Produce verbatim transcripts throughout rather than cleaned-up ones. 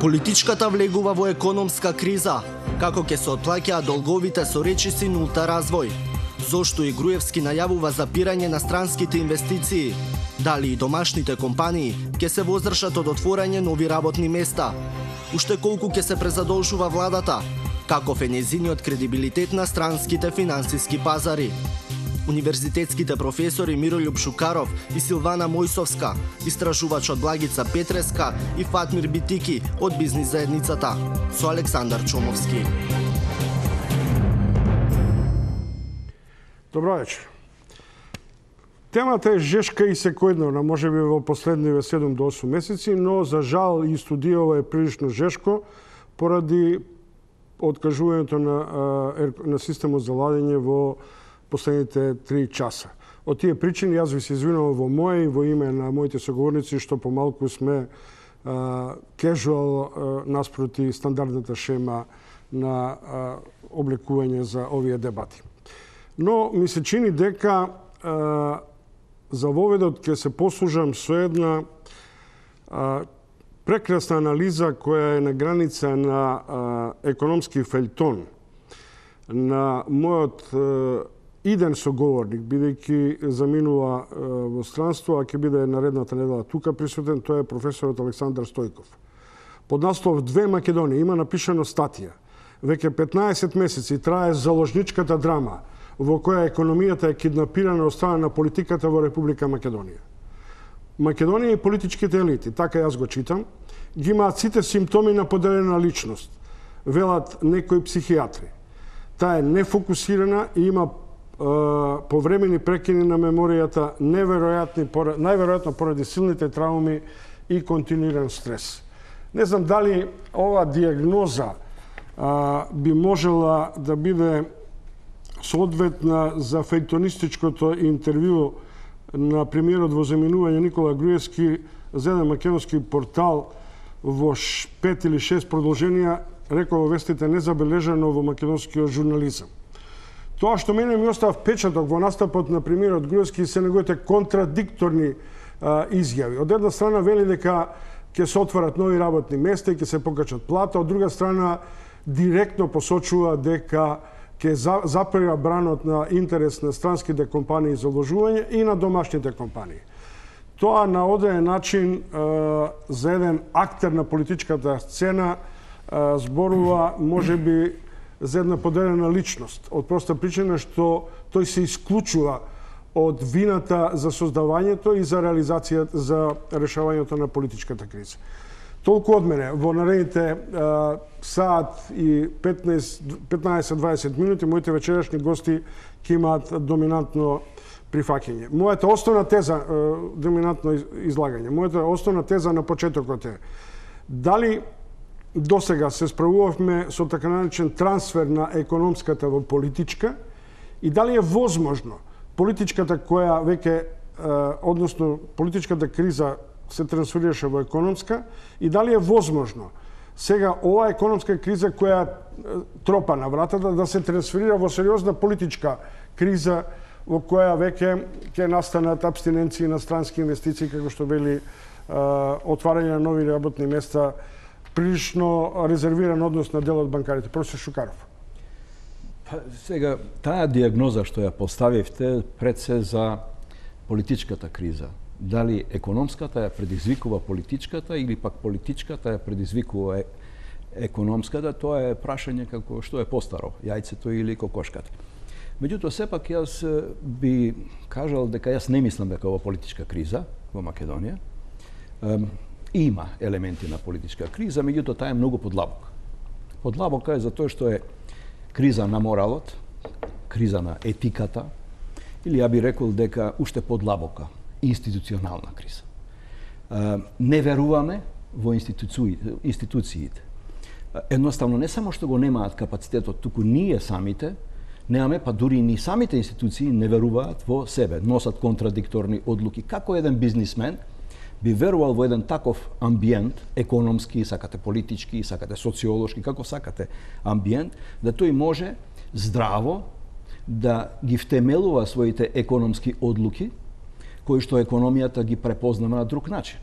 Политичката влегува во економска криза. Како ќе се отплаќаат долговите со речиси нулта развој? Зошто и Груевски најавува запирање на странските инвестиции? Дали и домашните компании ќе се воздржат од отворање нови работни места? Уште колку ќе се презадолжува владата? Каков е нејзиниот кредибилитет на странските финансиски пазари? Универзитетските професори Мирољуб Шукаров и Силвана Мојсовска, истражувачот Благица Петреска и Фатмир Битики од бизнис заедницата, со Александар Чомовски. Добро вечер. Темата е жешка и секојдневна, можеби во последниве седум до осум месеци, но за жал и студијава е прилично жешко поради откажувањето на, на системот за ладење во последните три часа. Од тие причини јас ви се извинувам во моје и во име на моите соговорници што помалку сме кежуал наспроти стандардната шема на а, облекување за овие дебати. Но ми се чини дека а, за воведот ќе се послужам со една а, прекрасна анализа која е на граница на а, економски фелтон на мојот а, иден соговорник, бидејќи заминува а, во странство, а ќе биде наредната недела тука присутен, тоа е професорот Александар Стојков. Под наслов Две Македонии има напишано статија. Веќе петнаесет месеци трае заложничката драма во која економијата е киднапирана од страна на политиката во Република Македонија. Македонија и политичките елити, така јас го читам, ги имаат сите симптоми на поделена личност, велат некои психијатри. Таа е нефокусирана и има повремени прекини на меморијата, неверојатни, најверојатно поради силните трауми и континуиран стрес. Не знам дали ова диагноза а, би можела да биде соодветна за фејтонистичкото интервју на премиерот во заминување Никола Груевски за еден македонски портал во пет или шест продолженија, рекол во вестите незабележано во македонскиот журнализам. Тоа што мене ми остава впечаток во настапот на премиерот Груевски се неговите контрадикторни а, изјави. Од една страна вели дека ќе се отварат нови работни места и ќе се покачат плата, од друга страна директно посочува дека ќе запира бранот на интерес на странските компании за вложување и на домашните компании. Тоа на одреден начин а, за еден актер на политичката сцена а, зборува можеби за една поделена личност, од проста причина што тој се исклучува од вината за создавањето и за реализацијата, за решавањето на политичката криза. Толку од мене. Во наредните а, саат и петнаесет до дваесет минути моите вечерашни гости ќе имаат доминантно прифаќање. Мојата основна теза, а, доминантно излагање, мојата основна теза на почетокот е дали до сега се справувавме со така наречен трансфер на економската во политичка и дали е возможно политичката која веќе, односно политичката криза се трансферираше во економска и дали е возможно сега оваа економска криза која тропа на вратата да се трансферира во сериозна политичка криза во која веќе ќе настанат абстиненции на странски инвестиции, како што вели отварање на нови работни места, прилично резервиран однос на дел од банкарите. Професор Шукаров. Па, сега, таа диагноза што ја поставивте пред се за политичката криза, дали економската ја предизвикува политичката или пак политичката ја предизвикува е, економската, тоа е прашање како што е постаро, јајцето или кокошката. Меѓутоа, сепак јас би кажал дека јас не мислам дека ова политичка криза во Македонија. Има елементи на политичка криза, меѓутоа таа е многу подлабока. Подлабока е затоа што е криза на моралот, криза на етиката, или ја би рекол дека уште подлабока, институционална криза. Не веруваме во институциите. Едноставно не само што го немаат капацитетот, туку ние самите немаме, па дури и ни самите институции не веруваат во себе, носат контрадикторни одлуки. Како еден бизнисмен би верувал во еден таков амбиент, економски, сакате политички, сакате социолошки, како сакате амбиент, да тој може здраво да ги втемелува своите економски одлуки, кои што економијата ги препознава на друг начин.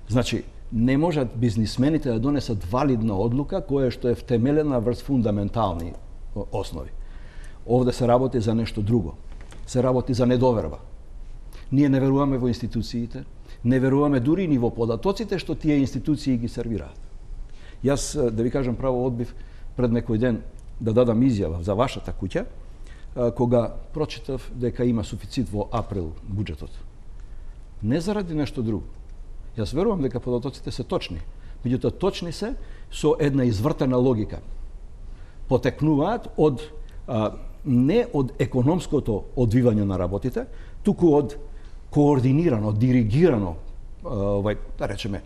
Значи, не можат бизнисмените да донесат валидна одлука која што е втемелена врз фундаментални основи. Овде се работи за нешто друго. Се работи за недоверба. Ние не веруваме во институциите, не веруваме дури ни во податоците што тие институции ги сервираат. Јас, да ви кажам право, одбив пред некој ден да дадам изјава за вашата куќа, кога прочитав дека има суфицит во април буџетот. Не заради нешто друго. Јас верувам дека податоците се точни, меѓутоа точни се со една извртена логика. Потекнуваат од а, не од економското одвивање на работите, туку од координирано, диригирано, овај, да речеме,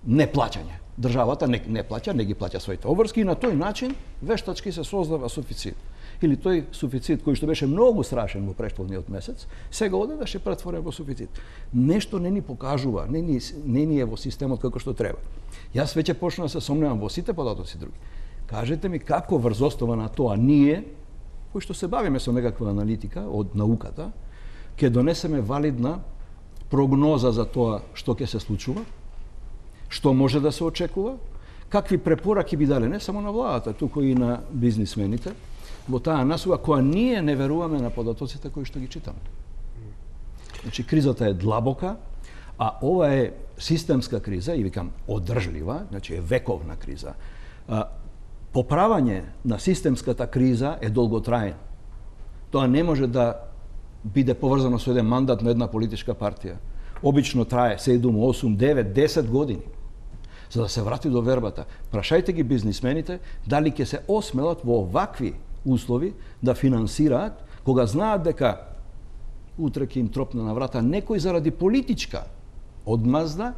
неплаќање. Државата не, не плаќа, не ги плаќа своите обврски и на тој начин вештачки се создава суфицит. Или тој суфицит кој што беше многу страшен во претходниот месец, сега одеднаш е претворен во суфицит. Нешто не ни покажува, не ни, не ни е во системот како што треба. Јас веќе почнав да се сомневам во сите податоци други. Кажете ми како врз основа на тоа ние, кои што се бавиме со некаква аналитика од науката, ќе донесеме валидна прогноза за тоа што ќе се случува, што може да се очекува, какви препораки би дале не само на владата, туку и на бизнисмените, во таа насока која ние не веруваме на податоците кои што ги читаме. Значи, кризата е длабока, а ова е системска криза, и викам одржлива, значи е вековна криза. А, поправање на системската криза е долготраен. Тоа не може да биде поврзано со еден мандат на една политичка партија. Обично трае седум, осум, девет, десет години. За да се врати до вербата. Прашајте ги бизнисмените дали ќе се осмелат во овакви услови да финансираат, кога знаат дека утре ќе им тропне на врата некој заради политичка одмазда,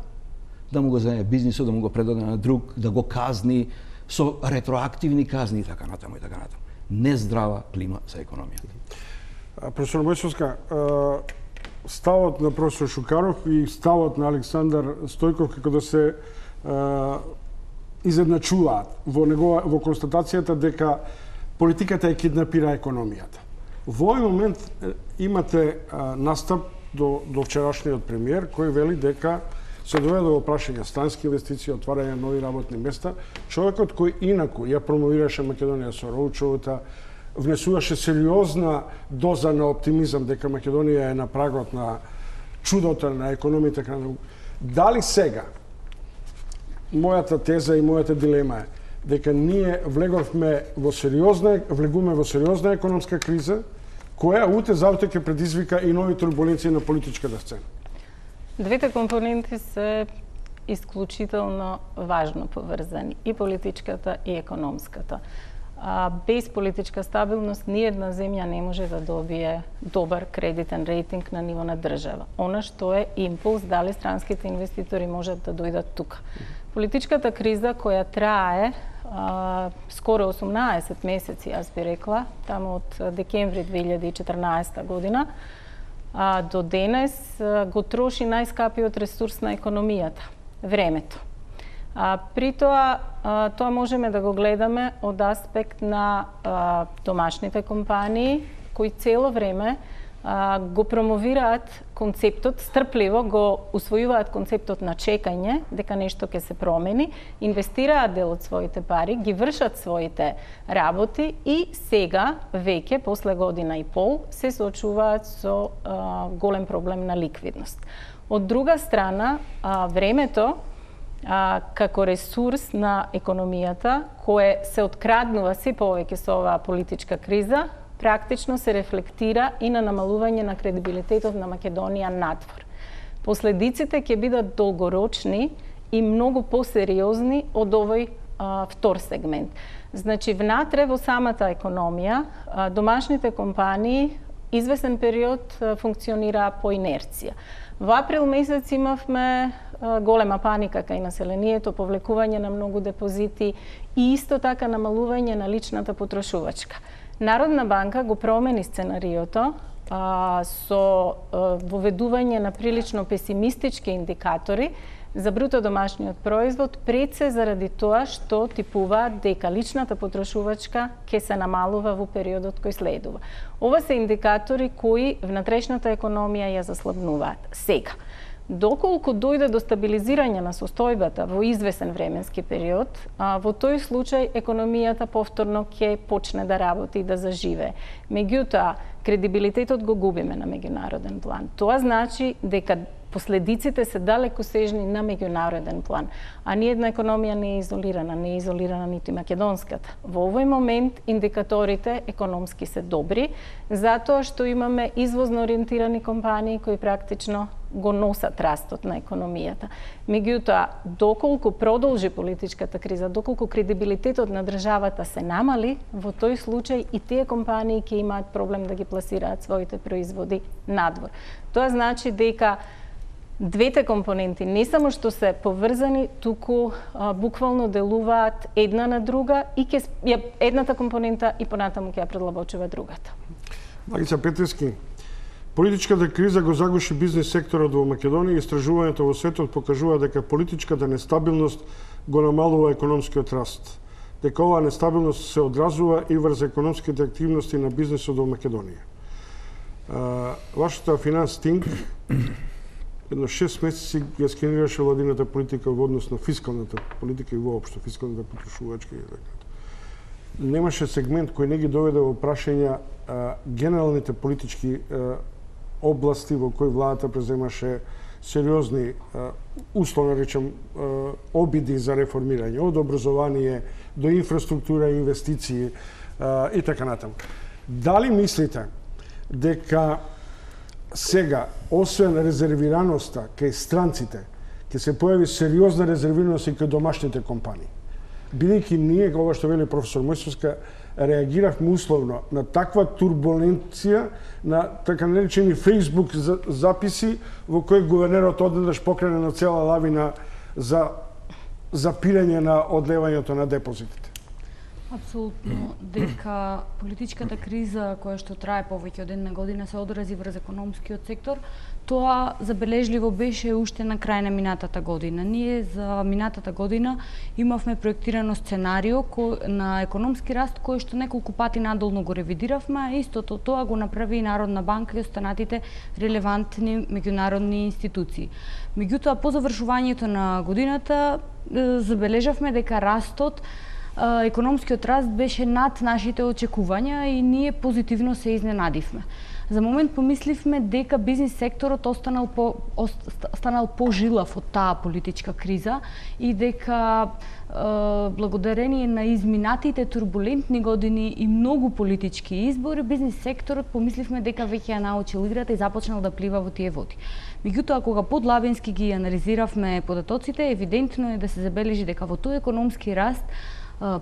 да му го земе бизнисот, да му го предаде на друг, да го казни со ретроактивни казни и така натаму и така натаму. Нездрава клима за економијата. Професор Бојчовска, ставот на професор Шукаров и ставот на Александар Стојков како да се изедначуваат во негова во констатацијата дека политиката е киднапира економијата. Во овој момент имате а, настап до, до вчерашниот премиер кој вели дека се доведе до прашање странски инвестиции, отварање нови работни места, човекот кој инаку ја промовираше Македонија со роучовата, внесуваше сериозна доза на оптимизам дека Македонија е на прагот на чудото на економијата. Дали сега мојата теза и мојата дилема е дека ние влеговме во сериозна, влегуваме во сериозна економска криза, која утре завтре ќе предизвика и нови турбуленции на политичката сцена. Двете компоненти се исклучително важно поврзани, и политичката и економската. А, без политичка стабилност ниедна земја не може да добие добар кредитен рейтинг на ниво на држава. Она што е импулс дали странските инвеститори можат да дојдат тука. Политичката криза која трае а, скоро осумнаесет месеци, јас би рекла, таму од декември две илјади и четрнаесета година, а, до денес а, го троши најскапиот ресурс на економијата – времето. А, при тоа, а, тоа можеме да го гледаме од аспект на а, домашните компании, кои цело време а, го промовираат концептот, стрпливо го усвојуваат концептот на чекање, дека нешто ќе се промени, инвестираат дел од своите пари, ги вршат своите работи и сега, веќе, после година и пол, се соочуваат со а, голем проблем на ликвидност. Од друга страна, а, времето, А, како ресурс на економијата, кое се откраднува се повеќе со оваа политичка криза, практично се рефлектира и на намалување на кредибилитетот на Македонија надвор. Последиците ќе бидат долгорочни и многу посериозни од овој а, втор сегмент. Значи, внатре во самата економија, а, домашните компании извесен период а, функционираа по инерција. Во април месец имавме голема паника кај населението, повлекување на многу депозити и исто така намалување на личната потрошувачка. Народна банка го промени сценариото а, со а, воведување на прилично песимистички индикатори за бруто домашниот производ, пред се заради тоа што типуваат дека личната потрошувачка ќе се намалува во периодот кој следува. Ова се индикатори кои внатрешната економија ја заслабнуваат. Сега, Доколку дојде до стабилизирање на состојбата во извесен временски период, а, во тој случај економијата повторно ќе почне да работи и да заживее. Меѓутоа, кредибилитетот го губиме на меѓународен план. Тоа значи дека последиците се далеку сежни на меѓународен план. А ни една економија не е изолирана, не е изолирана ниту и македонската. Во овој момент индикаторите економски се добри, затоа што имаме извозно ориентирани компании кои практично го носат растот на економијата. Меѓутоа, доколку продолжи политичката криза, доколку кредибилитетот на државата се намали, во тој случај и тие компании ќе имаат проблем да ги пласираат своите производи надвор. Тоа значи дека двете компоненти не само што се поврзани, туку а, буквално делуваат една на друга и ке, ја, едната компонента и понатаму ќе ја предлабочува другата. Магица Петрески, политичката криза го загуши бизнес секторот во Македонија и истражувањето во светот покажува дека политичката нестабилност го намалува економскиот раст. Дека оваа нестабилност се одразува и врз економските активности на бизнесот во Македонија. А, вашата Finance Think едно шест месеци ја скенираше владината политика во однос на фискалната политика и воопшто фискалната потрошувачка и така. Немаше сегмент кој не ги доведе во прашање а, генералните политички а, области во кои владата преземаше сериозни, а, условно речем, а, обиди за реформирање, од образование до инфраструктура, инвестиции а, и така натаму. Дали мислите дека сега, освен резервираноста кај странците, ќе се појави сериозна резервираност и кај домашните компании? Бидејќи ние, ова што вели професор Мојсовска, реагиравме условно на таква турбуленција, на така наречени Facebook записи во кои гувернерот одеднаш покрене на цела лавина за запирање на одлевањето на депозитите. Апсолутно, дека политичката криза која што трае повеќе од една година се одрази врз економскиот сектор, тоа забележливо беше уште на крај на минатата година. Ние за минатата година имавме проектирано сценарио кој, на економски раст кој што неколку пати надолно го ревидиравме, а истото тоа го направи и Народна банка и останатите релевантни меѓународни институции. Меѓутоа, по завршувањето на годината забележавме дека растот економскиот раст беше над нашите очекувања и ние позитивно се изненадивме. За момент помисливме дека бизнес секторот останал по останал пожилав од таа политичка криза и дека е, благодарение на изминатите турбулентни години и многу политички избори, бизнес секторот помисливме дека веќе ја научил играта и започнал да плива во тие води. Меѓутоа, кога подлабински ги анализиравме податоците, евидентно е да се забележи дека во тој економски раст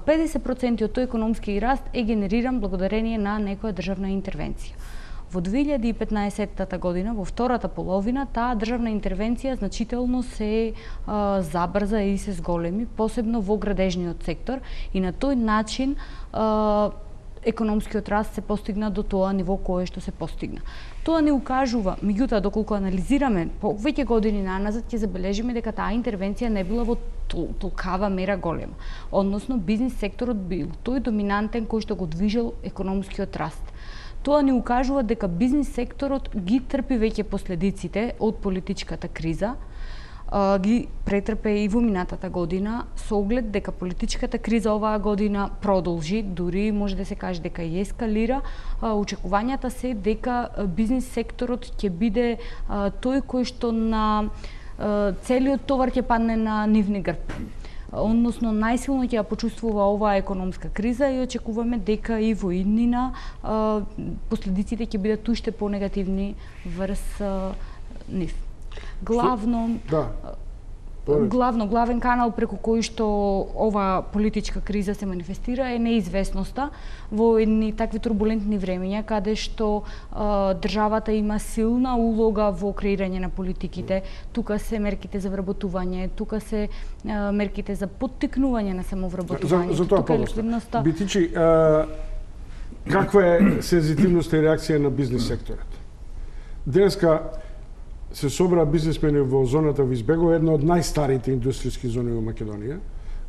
педесет проценти од тој економски раст е генериран благодарение на некоја државна интервенција. Во две илјади и петнаесетта година, во втората половина, таа државна интервенција значително се а, забрза и се зголеми, посебно во градежниот сектор, и на тој начин а, економскиот раст се постигна до тоа ниво кое што се постигна. Тоа не укажува, меѓутоа, доколку анализираме повеќе години наназад, ќе забележиме дека таа интервенција не била во толкава мера голема. Односно, бизнес секторот бил тој доминантен кој што го движел економскиот раст. Тоа ни укажува дека бизнес секторот ги трпи веќе последиците од политичката криза, ги претрпе и во минатата година, со оглед дека политичката криза оваа година продолжи, дури може да се каже дека и ескалира. Очекувањата се дека бизнес секторот ќе биде тој кој што на целиот товар ќе падне на нивни грб. Односно, најсилно ќе ја почувствува оваа економска криза и очекуваме дека и во иднина последиците ќе бидат уште понегативни врз нив. Главно, да. главно главен канал преку кој што ова политичка криза се манифестира е неизвестноста во едни такви турбулентни времења каде што а, државата има силна улога во креирање на политиките. Тука се мерките за вработување, тука се а, мерките за поттикнување на самовработување. За, за тоа ликвидноста. Битичи, а, каква е сензитивноста и реакција на бизнес секторот? Денеска се собра бизнисмени во зоната во Избегово, една од најстарите индустријски зони во Македонија,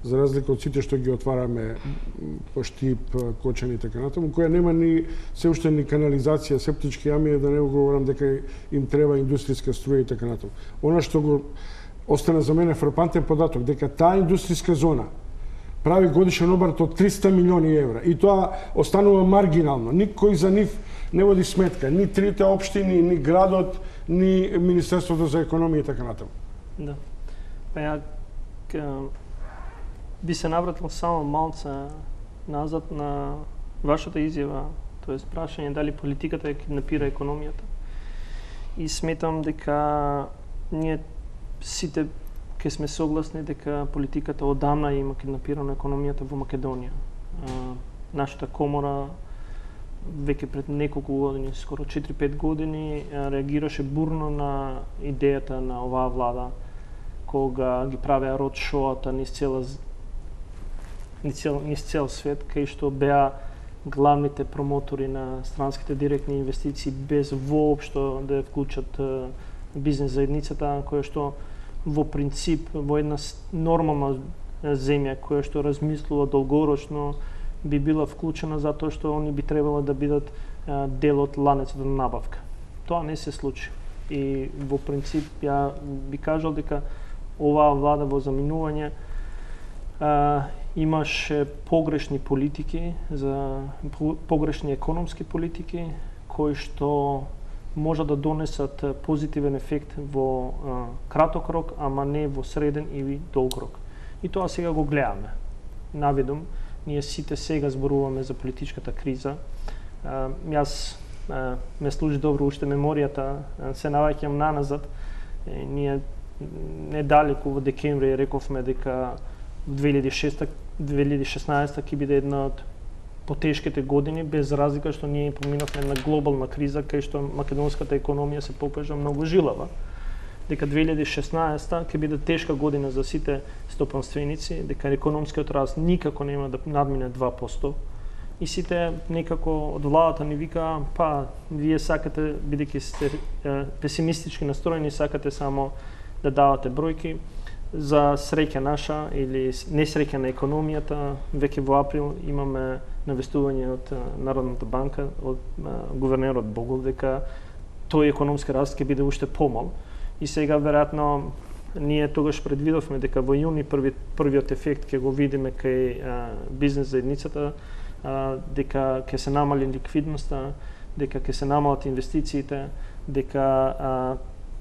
за разлика од сите што ги отвараме по Штип, Кочани и така натаму, која нема ни се уште ни канализација, септички јами, да не го говорам дека им треба индустријска струја и така натаму. Она што го остана за мене фрапантен податок, дека таа индустријска зона прави годишен обрат од триста милиони евра и тоа останува маргинално. Никој за нив не води сметка, ни трите општини, ни градот, ни Министерството за економија и така натаму. Да. Па ја би се навратил само малце назад на вашата изјава, тоест прашање дали политиката ја киднапира економијата. И сметам дека ние сите ќе сме согласни дека политиката одамна има киднапирана економијата во Македонија. Нашата комора веќе пред неколку години, скоро четири-пет години, реагираше бурно на идејата на оваа влада, кога ги правеа род шоата низ цела низ цел, низ цел свет, кај што беа главните промотори на странските директни инвестиции без воопшто да ја вклучат бизнес заедницата, која што во принцип во една нормална земја која што размислува долгорочно би била вклучена затоа што они би требало да бидат дел од ланецот на набавка. Тоа не се случи. И во принцип ја би кажал дека оваа влада во заминување а, имаше погрешни политики, за погрешни економски политики кои што може да донесат позитивен ефект во а, краток рок, ама не во среден или долг рок. И тоа сега го гледаме. Наведум, ние сите сега зборуваме за политичката криза. А, јас а, ме служи добро уште меморијата, а, се наваќам наназад. И ние недалеку во декември рековме дека две илјади и шеста две илјади и шеснаесета ќе биде една од потешките години, без разлика што ние поминавме на глобална криза, кај што македонската економија се покажа многу жилава. Дека две илјади и шеснаесета ќе биде тешка година за сите стопанственици, дека економскиот раст никако нема да надмине два проценти. И сите некако од владата ни вика, па, вие сакате, бидејќи сте е, песимистички настроени, сакате само да давате бројки. За среќа наша или несреќа на економијата, веќе во април имаме навестување од Народната банка, од гувернерот Богов, дека тој економски раст ќе биде уште помал. И сега, веројатно, ние тогаш предвидовме дека во јуни први, првиот ефект ќе го видиме кај а, бизнес заедницата, а, дека ќе се намали ликвидноста, дека ќе се намалат инвестициите, дека а,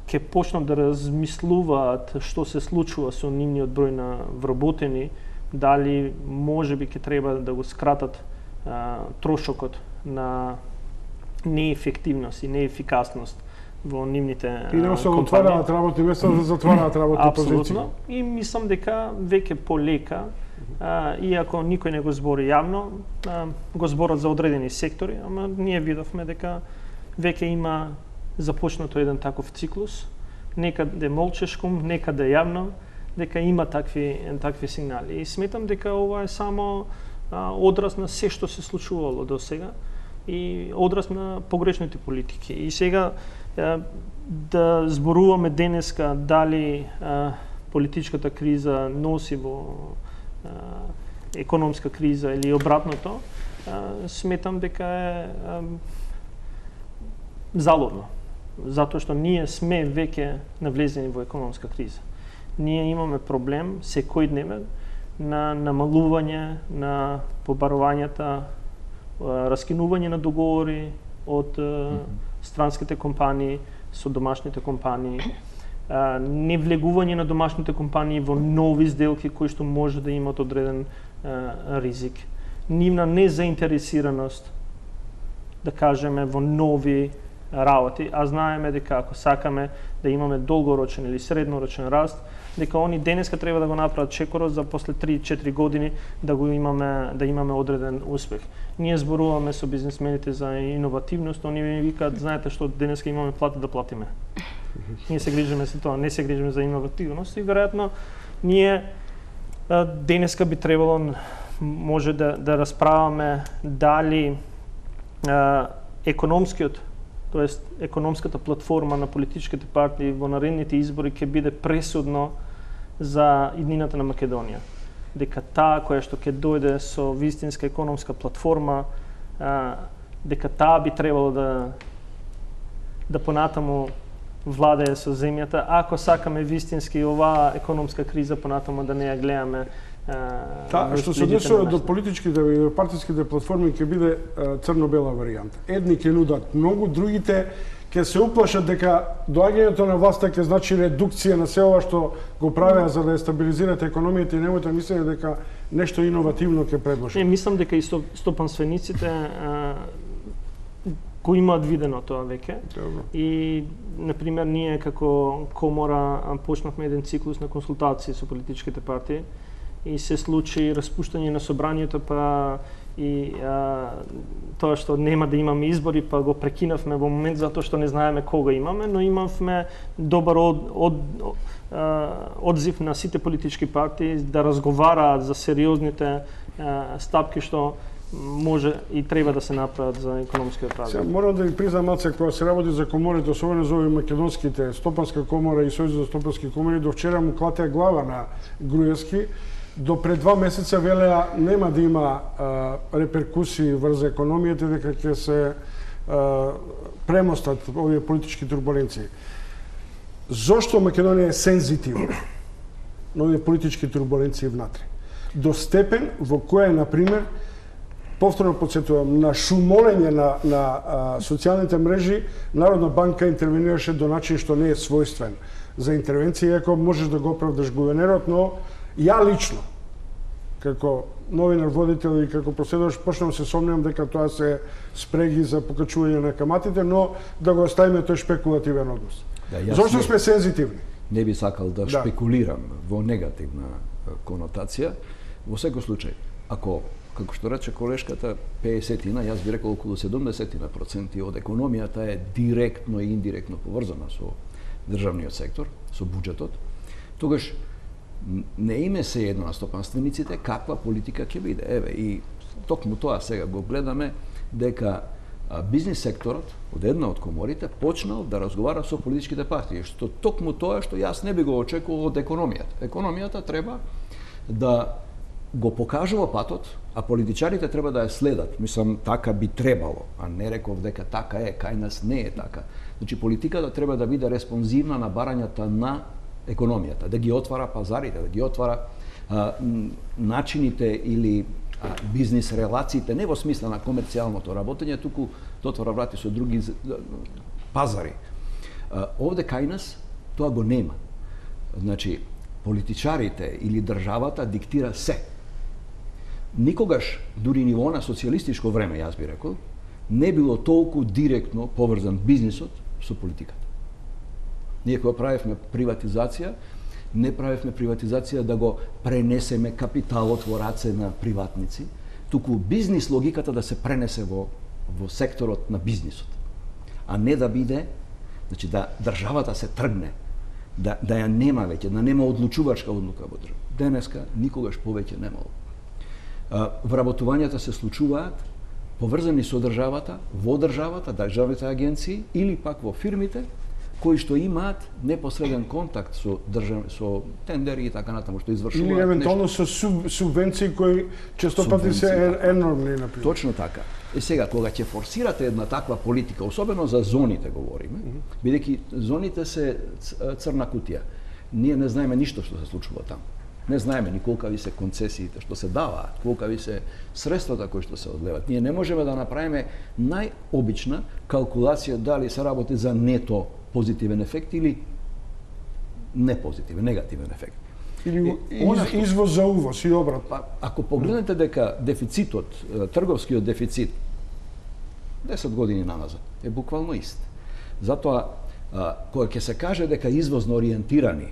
ќе почнат да размислуваат што се случува со нивниот број на вработени, дали можеби ќе треба да го скратат а, трошокот на неефективност и неефикасност во нивните и не се отвараат работни места, да затвараат работни позиции. Апсолутно. И мислам дека веќе полека, а, иако никој не го збори јавно, а, го зборат за одредени сектори, ама ние видовме дека веќе има започнато еден таков циклус, некаде молчешком, некаде јавно, дека има такви такви сигнали. И сметам дека ова е само а, одраз на се што се случувало до сега и одраз на погрешните политики. И сега а, да зборуваме денеска дали а, политичката криза носи во а, економска криза или обратното, а, сметам дека е а, залудно. Затоа што ние сме веќе навлезени во економска криза. Ние имаме проблем секојдневен на намалување на побарувањата, раскинување на договори од mm-hmm. странските компании со домашните компании, не влегување на домашните компании во нови сделки кои што може да имат одреден ризик. Нивна незаинтересираност, да кажеме, во нови работи, а знаеме дека ако сакаме да имаме долгорочен или среднорочен раст, дека они денеска треба да го направат чекорот за после три-четири години да го имаме да имаме одреден успех. Ние зборуваме со бизнисмените за иновативност, они ми викаат, знаете што, денеска имаме плата да платиме. Ние се грижиме за тоа, не се грижиме за иновативност и веројатно ние денеска би требало може да да расправаме дали а, економскиот, тоест економската платформа на политичките партии во наредните избори ќе биде пресудно за иднината на Македонија. дека таа која што ќе дојде со вистинска економска платформа, а, дека таа би требало да да понатаму владее со земјата, ако сакаме вистински оваа економска криза понатаму да не ја гледаме. Та, што се однесува до политичките и до партиските платформи ќе биде црно-бела варијанта. Едни ќе нудат многу, другите ќе се уплашат дека доаѓањето на власта ќе значи редукција на се ова што го правеа за да ја стабилизират економијата и немојте мислење дека нешто иновативно ќе предложат. Не, мислам дека и стопанствениците го имаат видено тоа веќе. Добро. И, например, ние како комора почнавме еден циклус на консултации со политичките партии и се случи распуштање на собранието, па и а, тоа што нема да имаме избори, па го прекинавме во момент затоа што не знаеме кога имаме, но имавме добар од, од, од, одзив на сите политички партии да разговараат за сериозните а, стапки што може и треба да се направат за економскиот развој. Сега морам да ви признам, Маце, кога се работи за коморите, особено за овие македонските, Стопанска комора и Сојуз за стопански комори, до вчера му клатеа глава на Груевски, до пред два месеца велеа нема да има а, реперкусии врз економијата, дека ќе се а, премостат овие политички турбуленции. Зошто Македонија е сензитивна на овие политички турбуленции внатре? До степен во која, например, повторно подсетувам, на шумолење на, на а, социјалните мрежи, Народна банка интервенираше до начин што не е својствен за интервенција, иако можеш да го оправдаш гувернерот, но ја лично, како новинар водител и како проследувач, почнам се сомневам дека тоа се спреги за покачување на каматите, но да го оставиме тој шпекулативен однос. Да, Зошто не, сме сензитивни? Не би сакал да, Да. шпекулирам во негативна конотација. Во секој случај, ако, како што рече колешката, педесетина, јас би рекол околу седумдесетина проценти од економијата е директно и индиректно поврзана со државниот сектор, со буџетот, тогаш не име се едно на стопанствениците каква политика ќе биде. Еве, и токму тоа сега го гледаме, дека а, бизнис секторот од една од коморите почнал да разговара со политичките партии, што токму тоа што јас не би го очекувал од економијата. Економијата треба да го покажува патот, а политичарите треба да ја следат. Мислам, така би требало, а не реков дека така е, кај нас не е така. Значи, политиката треба да биде респонзивна на барањата на економијата, да ги отвара пазарите, да ги отвара а, начините или а, бизнис релациите, не во смисла на комерцијалното работење, туку да отвара врати со други пазари. А, овде кај нас тоа го нема. Значи, политичарите или државата диктира се. Никогаш, дури ниво на социјалистичко време, јас би рекол, не било толку директно поврзан бизнисот со политиката. Ние кога правевме приватизација, не правевме приватизација да го пренесеме капиталот во раце на приватници, туку бизнис логиката да се пренесе во, во секторот на бизнисот, а не да биде, значи да државата се тргне, да, да ја нема веќе, да нема одлучувачка одлука во држава. Денеска никогаш повеќе немало. Вработувањата се случуваат поврзани со државата, во државата, државните агенции или пак во фирмите кои што имаат непосреден контакт со држав, со тендери и така натаму, што извршуваат Или евентуално нешто. со суб, субвенции кои често пати се Субвенции, е, енормни, например. Точно така. И сега, кога ќе форсирате една таква политика, особено за зоните говориме, mm -hmm. бидејќи зоните се црна кутија, ние не знаеме ништо што се случува таму. Не знаеме ни колкави се концесиите што се даваат, колкави се средствата кои што се одлеват. Ние не можеме да направиме најобична калкулација дали се работи за нето позитивен ефект или непозитивен, негативен ефект. Или И, она из, што- извоз за увоз и обрат. Па, ако погледнете дека дефицитот, е, трговскиот дефицит, десет години наназад, е буквално ист. Затоа, а, кога ќе се каже дека извозно ориентирани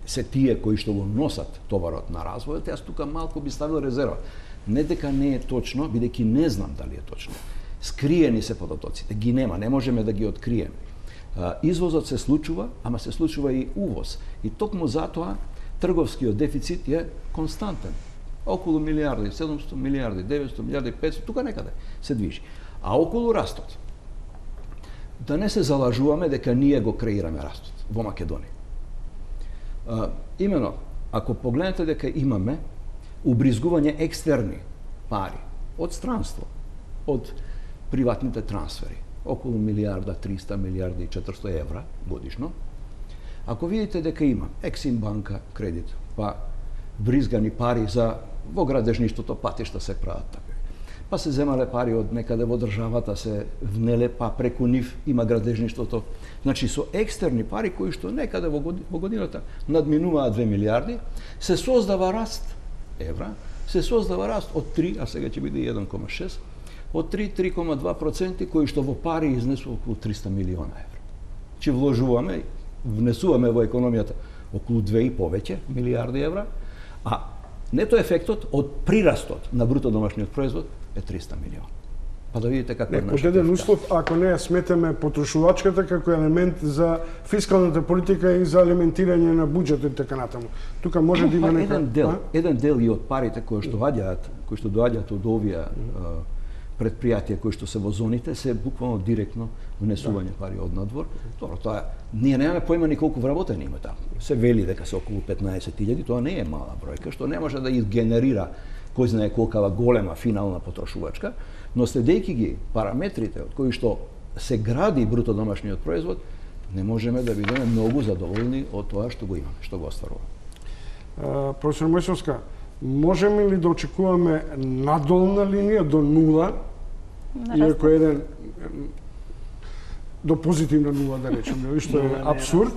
се тие кои што го носат товарот на развојот, јас тука малку би ставил резерва. Не дека не е точно, бидејќи не знам дали е точно. Скриени се податоците, ги нема, не можеме да ги откриеме. А, Извозот се случува, ама се случува и увоз. И токму затоа трговскиот дефицит е константен. Околу милијарди, седумсто милијарди, деветсто милијарди, петсто, тука некаде се движи. А околу растот, да не се залажуваме дека ние го креираме растот во Македонија. А, имено, ако погледнете дека имаме убризгување екстерни пари од странство, од приватните трансфери, околу милијарда, триста милијарди и четиристо евра годишно. Ако видите дека има Ексим банка кредит, па бризгани пари за во градежништвото, патишта се прават така. Па се земале пари од некаде во државата, се внеле, па преку нив има градежништвото. Значи со екстерни пари кои што некаде во годината надминуваат две милијарди, се создава раст евра, се создава раст од три, а сега ќе биде еден кома шест, од три до три кома два проценти кои што во пари изнесува околу триста милиона евра. Че вложуваме, внесуваме во економијата околу две и повеќе милијарди евра, а нето ефектот од прирастот на бруто домашниот производ е триста милиона. Па да видите како е нашата. Од еден услов, ако не ја сметаме потрошувачката како елемент за фискалната политика и за алиментирање на буџетот и така натаму. Тука може да има нека еден дел, еден дел и од парите кои што доаѓаат, кои што доаѓаат од овие предпријатија кои што се во зоните, се буквално директно внесување пари од надвор. Добро, тоа ние немаме појма ни колку вработени има таму. Се вели дека се околу петнаесет илјади, тоа не е мала бројка, што не може да изгенерира кој знае колкава голема финална потрошувачка, но следејќи ги параметрите од кои што се гради бруто домашниот производ, не можеме да бидеме многу задоволни од тоа што го имаме, што го остваруваме. Професор Мојсовска, можеме ли да очекуваме надолна линија до нула, иако еден до позитивна нула, да речеме, што е абсурд?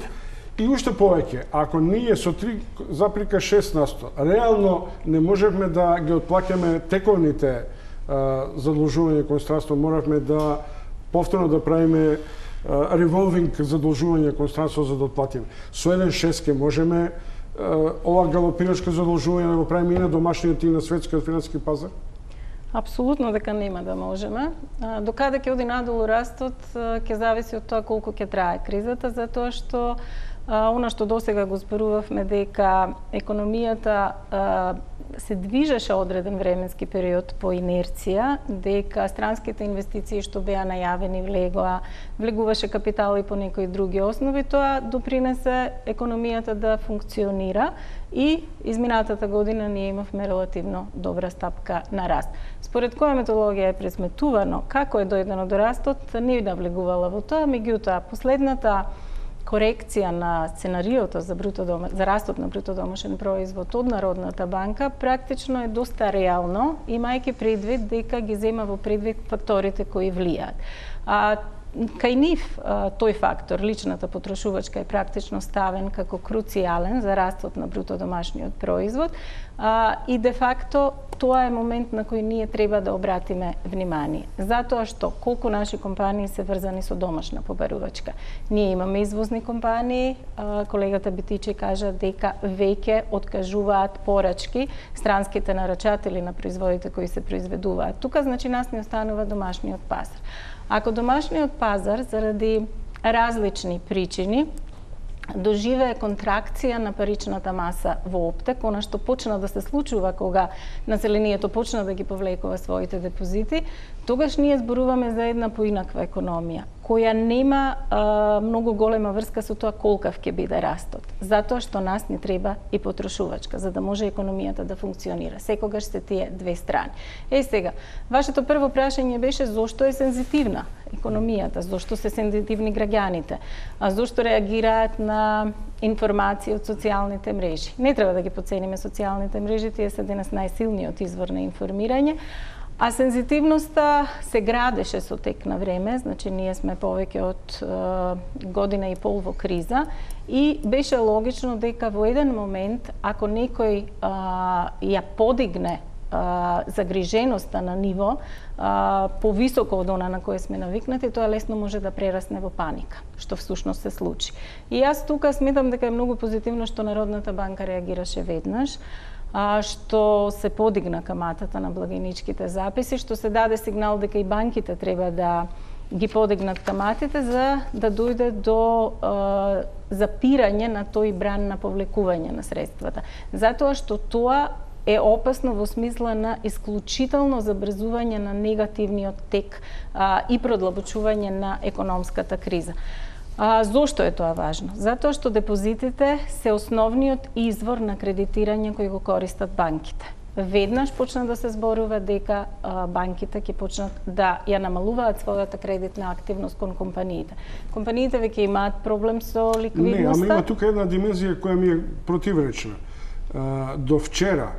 И уште повеќе, ако ние со три запирка шест насто реално не можевме да ги отплаќаме тековните задолжувања кон странство, моравме да повторно да правиме револвинг задолжување кон странство за да отплатиме. Со еден шест ке можеме ова галопирачко задолжување да го правиме и на домашниот и на светскиот финансиски пазар? Апсолутно дека нема да можеме. Докаде ќе оди надолу растот, ќе зависи од тоа колку ќе трае кризата, затоа што она што досега го зборувавме дека економијата се движеше одреден временски период по инерција, дека странските инвестиции што беа најавени влегоа, влегуваше капитал и по некои други основи, тоа допринесе економијата да функционира и изминатата година ние имавме релативно добра стапка на раст. Според која методологија е презметувано како е дојдено до растот, не навлегувала во тоа, меѓутоа последната корекција на сценариото за, бруто дома, за растот на бруто домашен производ од Народната банка практично е доста реално, имајќи предвид дека ги зема во предвид факторите кои влијаат. А, кај нив тој фактор, личната потрошувачка, е практично ставен како круцијален за растот на бруто домашниот производ а, и де факто тоа е момент на кој ние треба да обратиме внимание. Затоа што колку наши компании се врзани со домашна побарувачка. Ние имаме извозни компании, а, колегата Битичи кажа дека веќе откажуваат порачки странските нарачатели на производите кои се произведуваат. Тука значи нас не останува домашниот пазар. Ако домашниот пазар заради различни причини доживее контракција на паричната маса во оптек, она што почна да се случува кога населението почна да ги повлекува своите депозити, тогаш ние зборуваме за една поинаква економија, која нема а, многу голема врска со тоа колкав ќе биде растот. Затоа што нас не треба и потрошувачка, за да може економијата да функционира. Секогаш се тие две страни. Е сега, вашето прво прашање беше зошто е сензитивна економијата, зошто се сензитивни граѓаните, а зошто реагираат на информации од социјалните мрежи. Не треба да ги подцениме социјалните мрежи, тие се денес најсилниот извор на информирање. А сензитивноста се градеше со тек на време, значи ние сме повеќе од е, година и пол во криза и беше логично дека во еден момент, ако некој е, ја подигне загриженоста на ниво а, повисоко од она на кое сме навикнати, тоа лесно може да прерасне во паника, што всушност се случи. И јас тука сметам дека е многу позитивно што Народната банка реагираше веднаш, а, што се подигна каматата на благајничките записи, што се даде сигнал дека и банките треба да ги подигнат каматите за да дојде до а, запирање на тој бран на повлекување на средствата. Затоа што тоа е опасно во смисла на исклучително забрзување на негативниот тек а, и продлабочување на економската криза. А, зошто е тоа важно? Затоа што депозитите се основниот извор на кредитирање кој го користат банките. веднаш почна да се зборува дека а, банките ќе почнат да ја намалуваат својата кредитна активност кон компаниите. Компаниите веќе имаат проблем со ликвидноста. Не, ама има тука една димензија која ми е противречна. А, до вчера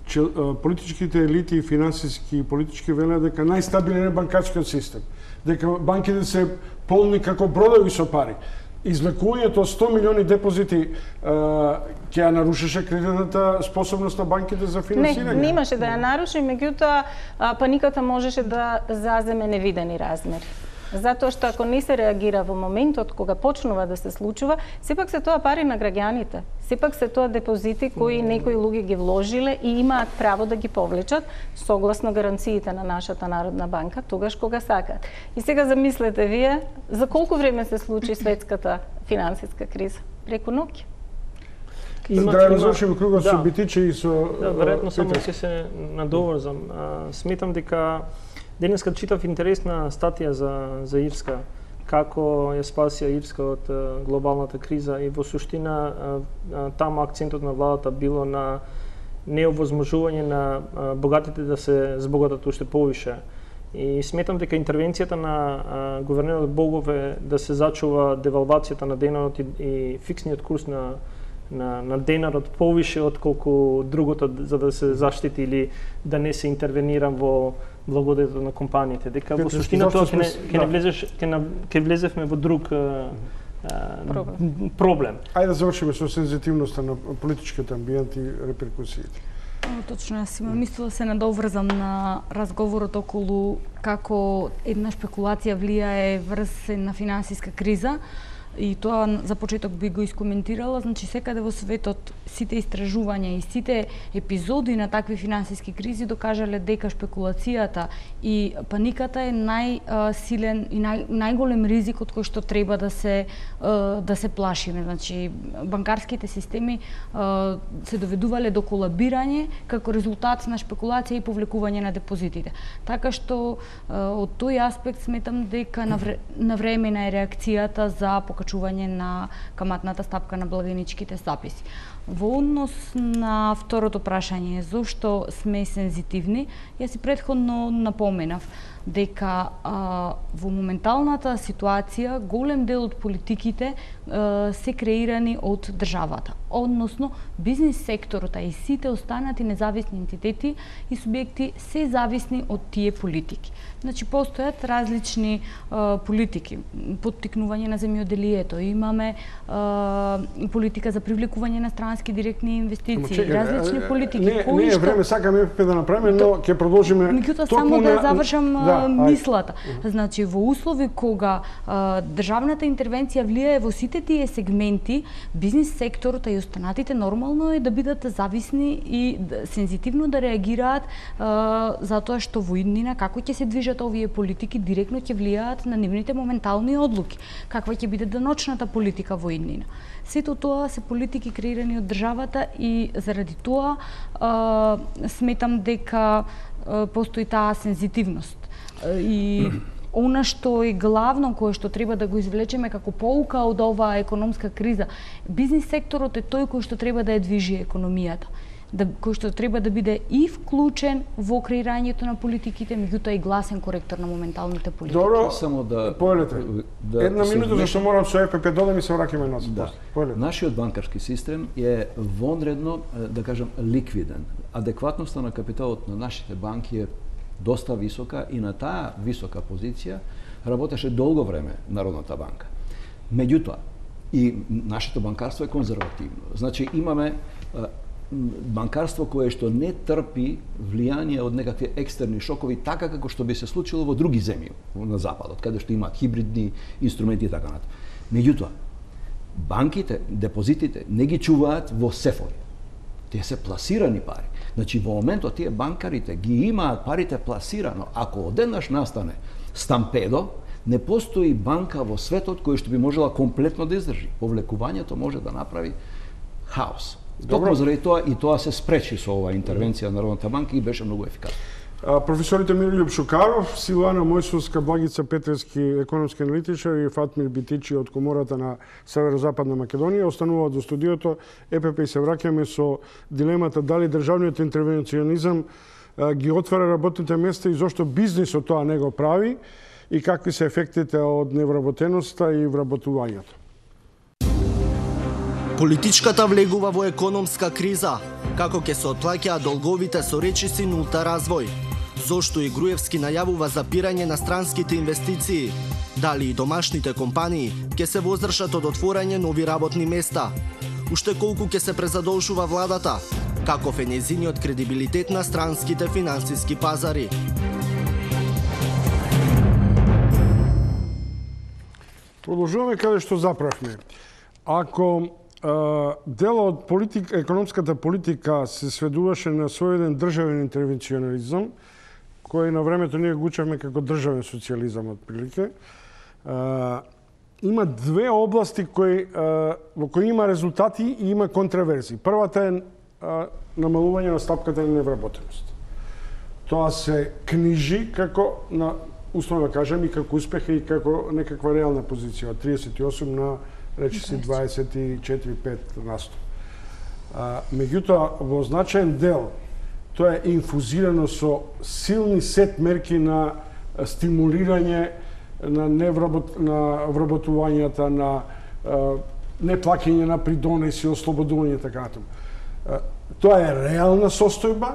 че, а, политичките елити и финансиски и политички велат дека најстабилен е банкарскиот систем, дека банките се полни како бродови со пари. Извлекувањето сто милиони депозити ќе ја нарушеше кредитната способност на банките за финансирање? Не, немаше да ја наруши, меѓутоа паниката можеше да заземе невидени размери. Затоа што ако не се реагира во моментот кога почнува да се случува, сепак се тоа пари на граѓаните. Сепак се тоа депозити кои некои луѓе ги вложиле и имаат право да ги повлечат согласно гаранциите на нашата Народна банка, тогаш кога сакаат. И сега замислете вие, за колку време се случи светската финансиска криза? Преку ноќ. Има, да разрушим кругот со битиче и со... Да, веројатно само ќе се надоврзам. Сметам дека денеска читав интересна статија за, за Ирска, како ја спасија Ирска од глобалната криза и во суштина таму акцентот на владата било на неовозможување на богатите да се збогатат уште повише. И сметам дека интервенцијата на гувернерот Богов е да се зачува девалвацијата на денарот и, и фиксниот курс на на, на денарот повише отколку другото за да се заштити или да не се интервенира во благодетот на компаниите. Дека во суштина тоа ќе не ќе не влезеш ќе ќе влезевме во друг а, проблем. проблем. Ајде да завршиме со сензитивноста на политичкиот амбиент и реперкусиите. Точно, јас имам мислила да се надоврзам на разговорот околу како една шпекулација влијае врз една финансиска криза. И тоа за почеток би го искоментирала, значи секаде во светот сите истражувања и сите епизоди на такви финансиски кризи докажале дека шпекулацијата и паниката е најсилен и нај, најголем ризик од кој што треба да се да се плашиме. Значи банкарските системи се доведувале до колабирање како резултат на шпекулација и повлекување на депозитите. Така што од тој аспект сметам дека навремена е реакцијата за покачување на каматната стапка на благајничките записи. Во однос на второто прашање, зошто сме сензитивни, јас и претходно напоменав дека а, во моменталната ситуација голем дел од политиките а, се креирани од државата, односно бизнис секторот и сите останати независни ентитети и субјекти се зависни од тие политики. Значи постојат различни а, политики, поттикнување на земјоделието, имаме а, политика за привлекување на странски директни инвестиции, чекай, различни политики. Не, кои не е време, сакаме еф пе да направиме, но ќе продолжиме. Меѓутоа само да завршам да, мислата. Ај. Значи во услови кога а, државната интервенција влијае во сите тие сегменти, бизнис секторот и останатите нормално е да бидат зависни и да, сензитивно да реагираат а, затоа што во иднина како ќе се движат овие политики директно ќе влијаат на нивните моментални одлуки. Каква ќе биде деночната политика во иднина. Сето тоа се политики креирани од државата и заради тоа а, сметам дека а, постои таа сензитивност. И она што е главно кое што треба да го извлечеме како поука од оваа економска криза, бизнис секторот е тој кој што треба да ја движи економијата, да, кој што треба да биде и вклучен во креирањето на политиките, меѓутоа и гласен коректор на моменталните политики. Добро, само да поелете. Да, Една минута зашто морам со еф пе додам и се враќаме на да. Поелете. Нашиот банкарски систем е вонредно, да кажам, ликвиден. Адекватноста на капиталот на нашите банки е доста висока и на таа висока позиција работеше долго време Народната банка. Меѓутоа, и нашето банкарство е конзервативно. Значи имаме банкарство кое што не трпи влијание од некакви екстерни шокови, така како што би се случило во други земји на западот, каде што имаат хибридни инструменти и така натаму. Меѓутоа, банките, депозитите не ги чуваат во сефови. Тие се пласирани пари. Значи во моментот тие банкарите ги имаат парите пласирано. Ако одеднаш настане стампедо, не постои банка во светот која што би можела комплетно да издржи. Повлекувањето може да направи хаос. Токму заради тоа и тоа се спречи со оваа интервенција на Народната банка и беше многу ефикасно. Професорите Мирољуб Шукаров, Силана Мојсовска, Благица Петревски, економски аналитичар и Фатмир Битичи од Комората на Северозападна Македонија остануваат до студиото. ЕПП и се враќаме со дилемата дали државниот интервенционизам ги отвара работните места и зошто бизнисот тоа не го прави и какви се ефектите од невработеноста и вработувањето. Политичката влегува во економска криза, како ќе се отплаќаат долговите со речиси нулта развој. Зошто и Груевски најавува запирање на странските инвестиции? Дали и домашните компании ќе се воздржат од отворање нови работни места? Уште колку ќе се презадолжува владата? Каков е нејзиниот кредибилитет на странските финансиски пазари? Продолжуваме каде што заправме. Ако дел од политик, економската политика се сведуваше на сојден државен интервенционализам, кој на времето ние го учевме како државен социјализам отприлике, има две области кои, во кои има резултати и има контраверзии. Првата е намалување на стапката на невработеност. Тоа се книжи како, на, условно да кажем, и како успех и како некаква реална позиција од триесет и осум на речиси дваесет и четири до пет на сто. Меѓутоа, во значаен дел, тоа е инфузирано со силни сет мерки на стимулирање на невработ, на вработувањата, на неплаќање на придонеси, ослободување и така натаму. Тоа е реална состојба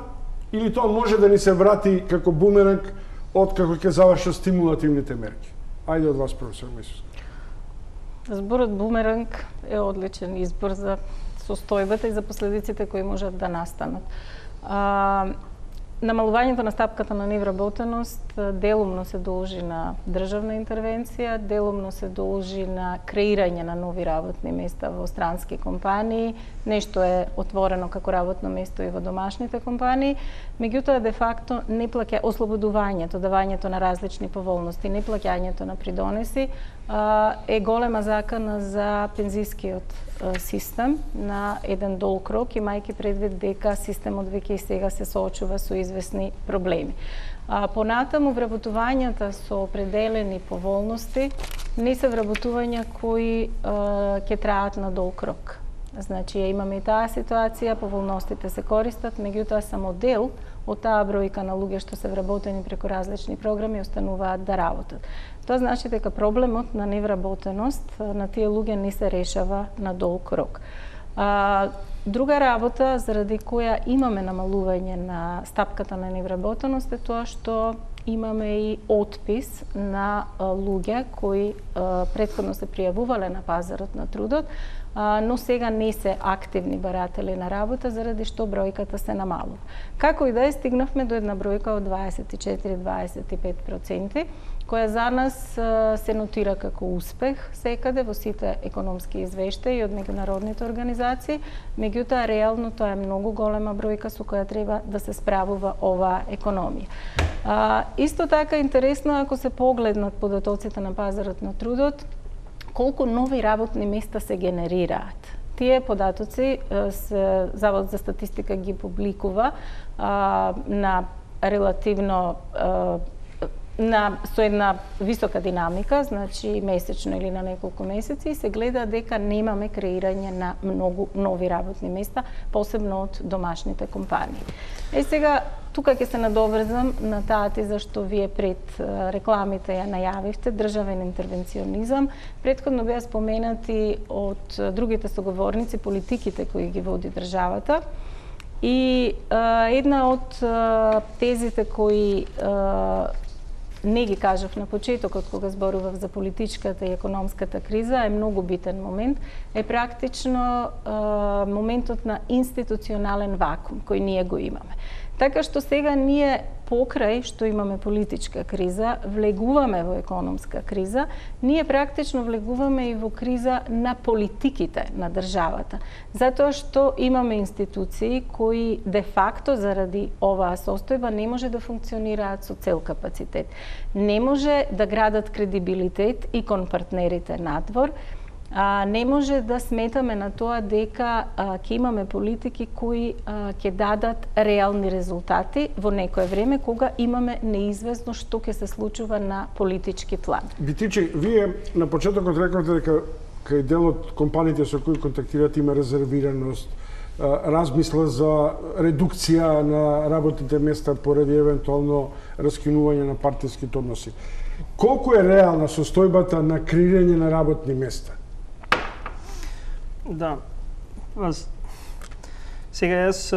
или тоа може да ни се врати како бумеранг од како ќе завршат стимулативните мерки? Ајде од вас, професор Мојсовска. Зборот бумеранг е одличен избор за состојбата и за последиците кои можат да настанат. А, намалувањето на стапката на невработеност делумно се должи на државна интервенција, делумно се должи на креирање на нови работни места во странски компании, нешто е отворено како работно место и во домашните компании, меѓутоа де факто не плаќа ослободувањето, давањето на различни поволности, не плаќањето на придонеси е голема закана за пензискиот систем на еден долг рок, имајќи предвид дека системот веќе и сега се соочува со известни проблеми. Понатаму, вработувањата со определени поволности не се вработувања кои ќе траат на долг рок. Значи, имаме и таа ситуација, поволностите се користат, меѓутоа само дел од таа бројка на луѓе што се вработени преку различни програми остануваат да работат. Тоа значи дека проблемот на невработеност на тие луѓе не се решава на долг рок. А, друга работа заради која имаме намалување на стапката на невработеност е тоа што имаме и отпис на луѓе кои претходно се пријавувале на пазарот на трудот, но сега не се активни баратели на работа, заради што бројката се намалува. Како и да е, стигнавме до една бројка од дваесет и четири до дваесет и пет проценти, која за нас се нотира како успех секаде во сите економски извештаи од меѓународните организации, меѓутоа реално тоа е многу голема бројка со која треба да се справува оваа економија. А, исто така интересно ако се погледнат податоците на пазарот на трудот, колку нови работни места се генерираат. Тие податоци се, Завод за статистика ги публикува а, на релативно а, на со една висока динамика, значи месечно или на неколку месеци, и се гледа дека немаме креирање на многу нови работни места, посебно од домашните компании. Е сега, тука ќе се надоврзам на таа теза што вие пред рекламите ја најавивте, државен интервенционизам. Претходно беа споменати од другите соговорници политиките кои ги води државата. И а, една од а, тезите кои а, не ги кажав на почетокот кога зборував за политичката и економската криза, е многу битен момент, е практично е, моментот на институционален вакуум кој ние го имаме. Така што сега ние покрај што имаме политичка криза, влегуваме во економска криза, ние практично влегуваме и во криза на политиките на државата. Затоа што имаме институции кои де факто заради оваа состојба не може да функционираат со цел капацитет. Не може да градат кредибилитет и кон партнерите надвор А, не може да сметаме на тоа дека а, ќе имаме политики кои а, ќе дадат реални резултати во некое време кога имаме неизвестно што ќе се случува на политички план. Битичи, вие на почетокот рековте дека кај дел од компаниите со кои контактирате има резервираност, размисла за редукција на работните места поради евентуално раскинување на партиските односи. Колку е реална состојбата на креирање на работни места? Да. Аз сега јас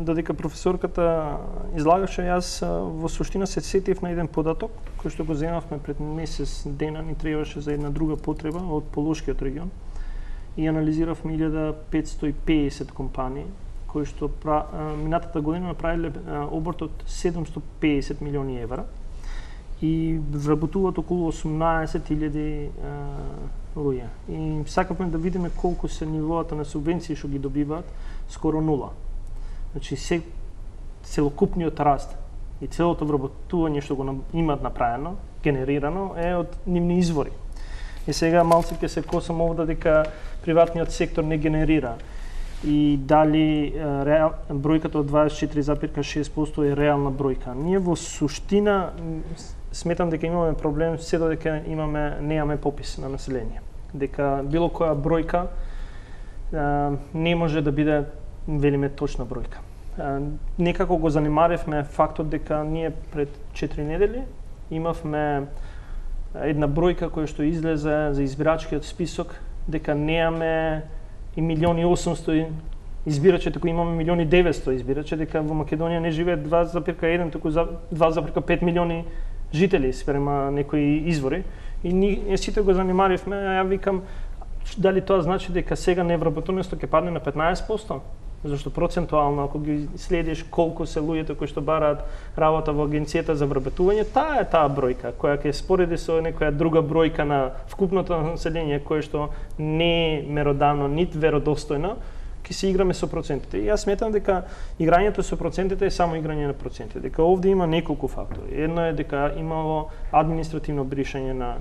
додека професорката излагаше, јас во суштина се сетив на еден податок кој што го земавме пред месец дена, ни требаше за една друга потреба од Полошкиот регион. И анализиравме илјада петстотини и педесет компании кои што пра, минатата година направиле оборот од седумстотини и педесет милиони евра и вработуваат околу осумнаесет илјади луѓе. И сакавме да видиме колку се нивоата на субвенции што ги добиваат, скоро нула. Значи се целокупниот раст и целото вработување што го имаат направено, генерирано е од нивни извори. И сега малце ќе се косам овде дека приватниот сектор не генерира и дали реал, бројката од дваесет и четири запирка шест проценти е реална бројка. Ние во суштина сметам дека имаме проблем се додека имаме неаме попис на население. Дека било која бројка а, не може да биде велиме точна бројка. А, некако го занимаревме фактот дека ние пред четири недели имавме една бројка која што излезе за избирачкиот список дека неаме и милиони и осумстотини избирачи, туку имаме милиони и деветстотини избирачи, дека во Македонија не живеат два запирка еден, туку два запирка пет милиони жители спрема некои извори. И ние сите го занимаривме, а ја викам дали тоа значи дека сега невработувањето ќе падне на петнаесет проценти? Зашто процентуално, ако ги следиш колку се луѓето кои што бараат работа во агенцијата за вработување, таа е таа бројка, која ќе спореди со некоја друга бројка на вкупното население, кое што не е меродавно, нит веродостојно, ќе се играме со процентите. И јас сметам дека играњето со процентите е само играње на проценти, дека овде има неколку фактори. Едно е дека имало административно бришање на,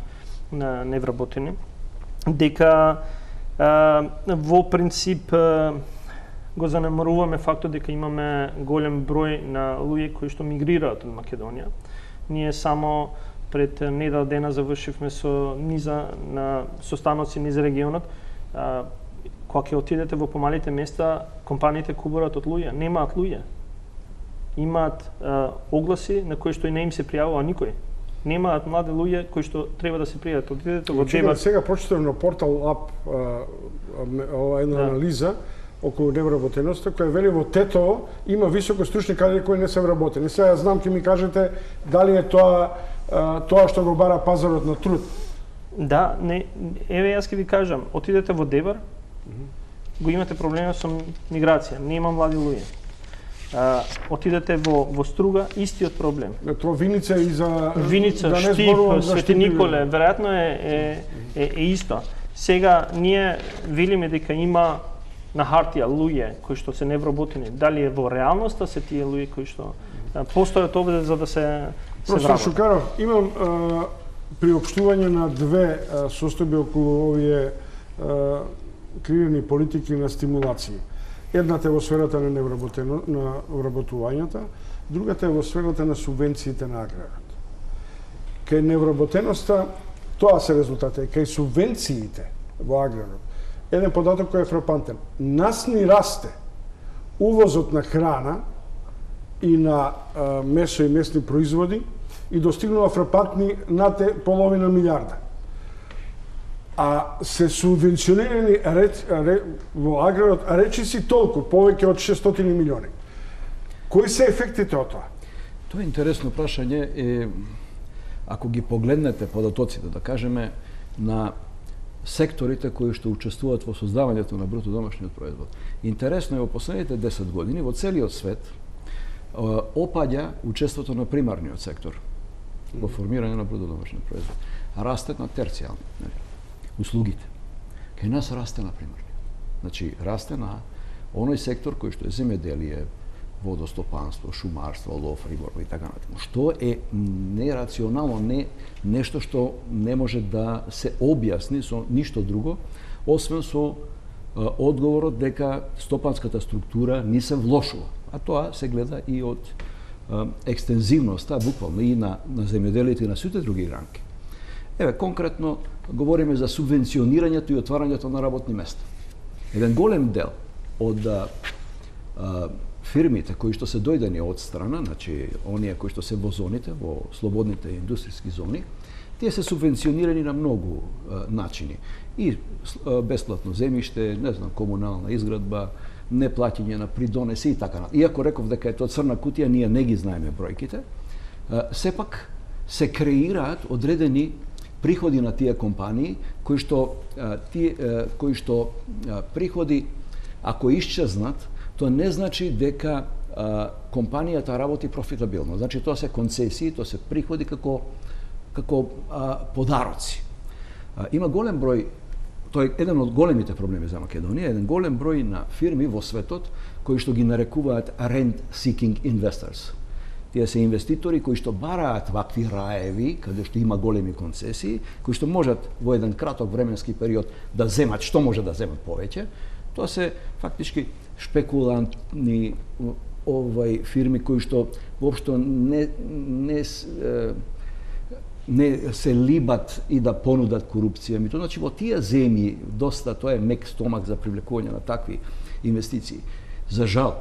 на невработени, дека а, во принцип а, го занемаруваме фактот дека имаме голем број на луѓе кои што мигрираат од Македонија. Ние само пред недел дена завршивме со низа на состаноци низ регионот. А, кога ќе отидете во помалите места, компаниите кубурат од луѓе, немаат луѓе. Имаат а, огласи на кои што и не им се пријавува никој. Немаат млади луѓе кои што треба да се пријават. Отидете во Дебар. Сега прочитав на портал ап ова една да. анализа околу невработеноста, која вели во Тетово има високо стручни кадри кои не се вработени. Сега знам ќе ми кажете дали е тоа тоа што го бара пазарот на труд. Да, не, еве јас ќе ви кажам, отидете во Дебар, mm -hmm. го имате проблеми со миграција, нема млади луѓе. А, отидете во во Струга, истиот проблем. Тоа Виница и за Виница, да Штип, Свети Николе, веројатно е е, е е исто. Сега ние велиме дека има на хартија луѓе кои што се невработени, дали е во реалноста се тие луѓе кои што постојат овде за да се се Професор Шукаров, имам а, приопштување на две а, состојби околу овие а, креирани политики на стимулации. Едната е во сферата на невработено на вработувањата, другата е во сферата на субвенциите на аграрот. Кај невработеноста тоа се резултати, кај субвенциите во аграрот. Еден податок кој е фрапантен. Нас ни расте увозот на храна и на а, месо и месни производи и достигнува фрапантни над половина милиарда. А се субвенционирани реч, ре, во аграрот речиси толку, повеќе од шестстотини милиони. Кои се ефектите од тоа? Тоа е интересно прашање. Е, ако ги погледнете податоците, да кажеме, на секторите кои што учествуваат во создавањето на бруто домашниот производ. Интересно е во последните десет години во целиот свет опаѓа учеството на примарниот сектор во формирање на бруто домашниот производ. Расте на терцијални, нели, услугите. Кај нас расте на примарниот. Значи расте на оној сектор кој што е земјоделие, водостопанство, шумарство, лов, риболов и така натаму. Што е нерационално, не нешто што не може да се објасни со ништо друго, освен со а, одговорот дека стопанската структура не се влошува. А тоа се гледа и од а, екстензивноста, буквално и на, на земјоделието и на сите други гранки. Еве, конкретно, говориме за субвенционирањето и отварањето на работни места. Еден голем дел од а, а, фирмите кои што се дојдени од страна, значи оние кои што се во зоните, во слободните индустријски зони, тие се субвенционирани на многу а, начини. И а, бесплатно земјиште, не знам, комунална изградба, неплаќање на придонеси и така натаму. Иако реков дека е тоа црна кутија, ние не ги знаеме бројките, а, сепак се креираат одредени приходи на тие компании кои што а, тие а, кои што а, приходи ако исчезнат, тоа не значи дека а, компанијата работи профитабилно. Значи тоа се концесии, тоа се приходи како како а, подароци. А, има голем број, тоа е еден од големите проблеми за Македонија, еден голем број на фирми во светот кои што ги нарекуваат rent seeking investors. Тие се инвеститори кои што бараат вакви раеви, каде што има големи концесии, кои што можат во еден краток временски период да земат што може да земат повеќе. Тоа се фактички шпекулантни овај фирми кои што воопшто не не не се либат и да понудат корупција. Ми тоа значи во тие земји доста тоа е мек стомак за привлекување на такви инвестиции. За жал,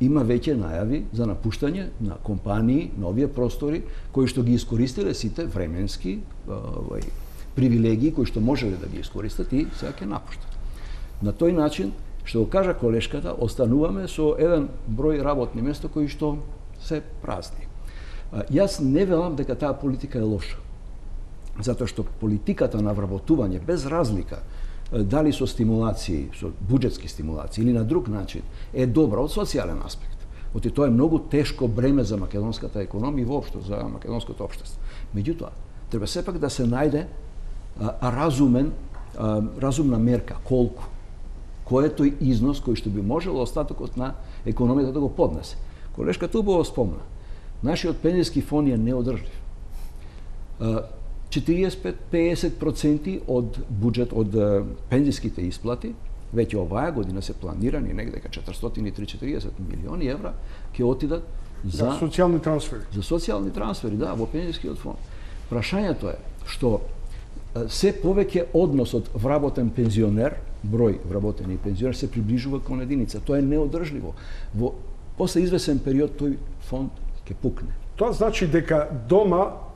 има веќе најави за напуштање на компании на овие простори кои што ги искористиле сите временски овај привилегии кои што можеле да ги искористат и сега ќе напуштат. На тој начин, што го кажа колешката, остануваме со еден број работни места кои што се празни. Јас не велам дека таа политика е лоша, затоа што политиката на вработување без разлика дали со стимулации, со буџетски стимулации или на друг начин е добра од социјален аспект. Оти тоа е многу тешко бреме за македонската економија и воопшто за македонското општество. Меѓутоа, треба сепак да се најде а, разумен а, разумна мерка колку кој е тој износ кој што би можело остатокот на економијата да го поднесе. Колешката убаво спомна. Нашиот пензиски фонд е неодржлив. четириесет до песет проценти од буџет од пензиските исплати веќе оваа година се планирани негде дека четиристотини и триесет милиони евра ќе отидат за да, социјални трансфери. За социјални трансфери, да, во пензискиот фонд. Прашањето е што се повеќе односот вработен пензионер, број вработени пензионер се приближува кон единица. Тоа е неодржливо. Во после извесен период тој фонд ќе пукне. Тоа значи дека дома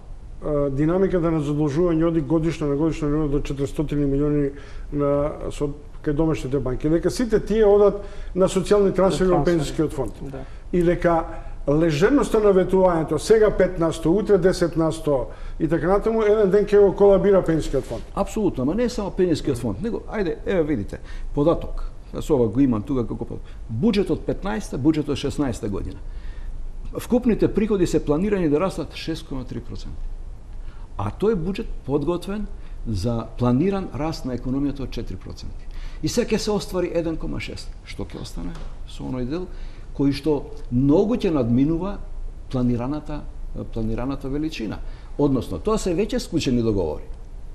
динамиката на задолжување оди годишно на годишно ниво до четиристотини милиони на со кај домашните банки. Дека сите тие одат на социјални трансфери во пензискиот фонд. Да. И дека лежерноста на ветувањето сега пет на сто, утре десет на сто и така натаму еден ден ќе го колабира пензискиот фонд. Апсолутно, ама не само пензискиот фонд, него ајде, еве видите, податок. Јас ова го имам тука како податок. Буџетот петнаесетта, буџетот шеснаесетта година. Вкупните приходи се планирани да растат шест кoma три проценти. А тој буџет подготвен за планиран раст на економијата од четири проценти. И сега ќе се оствари еден кoma шест. Што ќе остане со оној дел кој што многу ќе надминува планираната планираната величина. Односно, тоа се веќе склучени договори.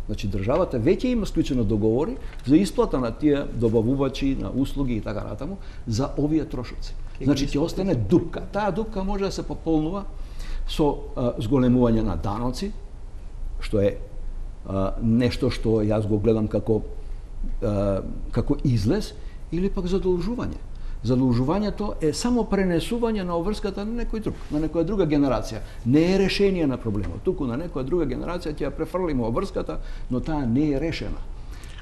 Значи државата веќе има склучено договори за исплата на тие добавувачи на услуги и така натаму за овие трошоци. Значи ќе остане дупка. Таа дупка може да се пополнува со а, зголемување на даноци, што е а, нешто што јас го гледам како а, како излез, или пак задолжување. Задолжувањето е само пренесување на обврската на некој друг, на некоја друга генерација. Не е решение на проблемот. Туку на некоја друга генерација ќе ја префрлиме обврската, но таа не е решена.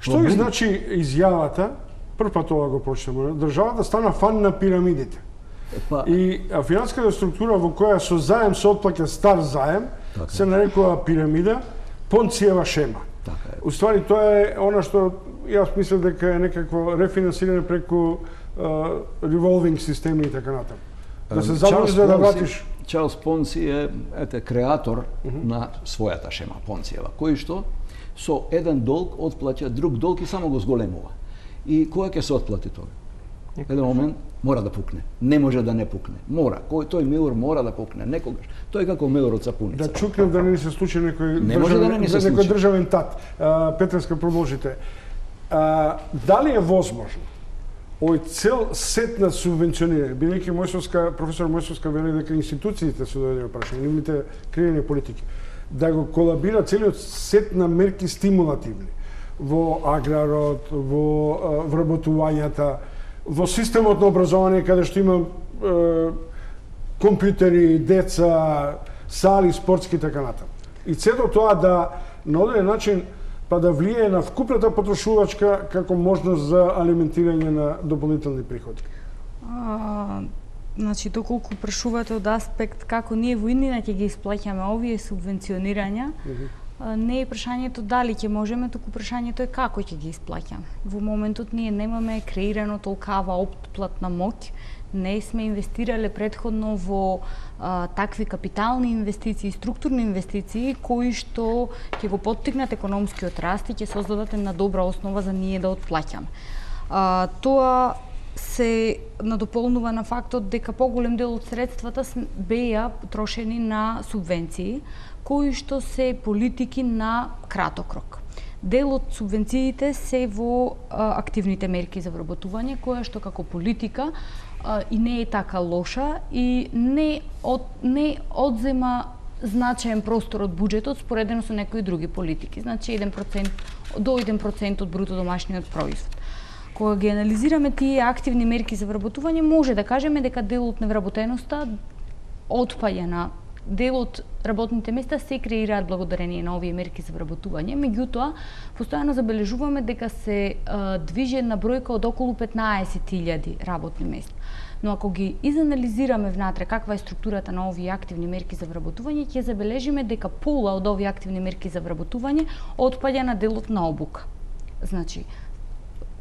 Што ви значи изјавата, прв пат ова го прочитаме, државата стана фан на пирамидите. Па, и финансиската структура во која со заем се отплаќа стар заем, така, се нарекува пирамида, Понциева шема. Така е. Уствари тоа е она што јас мислам дека е некакво рефинансирање преку револвинг системи и така натаму. Да се забрави за да вратиш. Чарлс Понци е ете креатор uh -huh. на својата шема Понциева, кој што со еден долг отплаќа друг долг и само го зголемува. И која ќе се отплати тоа? Еден момент мора да пукне. Не може да не пукне. Мора. Кој тој меур мора да пукне некогаш. Тој е како меур од сапуница. Да чукнем да не ни се случи некој не може да не ни се случи. Некој државен тат. Петреска, продолжите. А, дали е возможно овој цел сет на субвенционирање, бидејќи Мојсовска, професор Мојсовска вели дека институциите се доведени прашање, нивните креирани политики, да го колабира целиот сет на мерки стимулативни во аграрот, во вработувањата, во системот на образование, каде што има е, компјутери, деца, сали, спортски и така натаму. И цето тоа да на одреден начин па да влијае на вкупната потрошувачка како можност за алиментирање на дополнителни приходи. А, значи, доколку прашувате од аспект како ние во иднина ќе ги исплаќаме овие субвенционирања, uh -huh. не е прашањето дали ќе можеме, туку прашањето е како ќе ги исплаќаме. Во моментот ние немаме креирано толкава отплатна моќ, не сме инвестирале предходно во а, такви капитални инвестиции, структурни инвестиции кои што ќе го поттикнат економскиот раст и ќе создадат една добра основа за ние да отплаќаме. А, тоа се надополнува на фактот дека поголем дел од средствата беа трошени на субвенции, кои што се политики на краток рок. Дел од субвенциите се во а, активните мерки за вработување, која што како политика а, и не е така лоша и не, од, не одзема значаен простор од буџетот споредено со некои други политики. Значи еден процент до еден процент од бруто домашниот производ. Кога ги анализираме тие активни мерки за вработување, може да кажеме дека дел од невработеноста отпаѓа на дел од работните места се креираат благодарение на овие мерки за вработување, меѓутоа постојано забележуваме дека се а, движи една бројка од околу петнаесет илјади работни места. Но ако ги изанализираме внатре каква е структурата на овие активни мерки за вработување, ќе забележиме дека пола од овие активни мерки за вработување отпаѓа на делот на обука. Значи,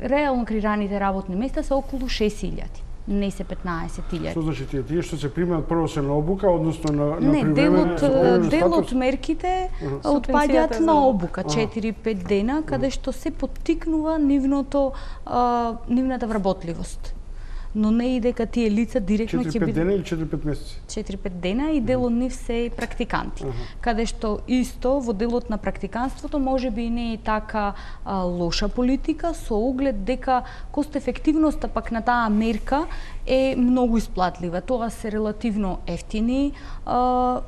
реално креираните работни места се околу шест илјади. Не се петнаесет илјади. Што значи тие? Тие што се примаат прво се на обука, односно на, на не, привремен... Не, дел од мерките uh -huh. отпаѓаат на обука, четири-пет дена, каде што се поттикнува нивното, а, нивната вработливост. Но не и дека тие лица директно ќе четири-пет дена или четири-пет месеци? четири-пет дена и дел од нив се практиканти. Uh -huh. Каде што исто во делот на практиканството може би не е така а, лоша политика со оглед дека кост-ефективноста пак на таа мерка е многу исплатлива. Тоа се релативно ефтини а,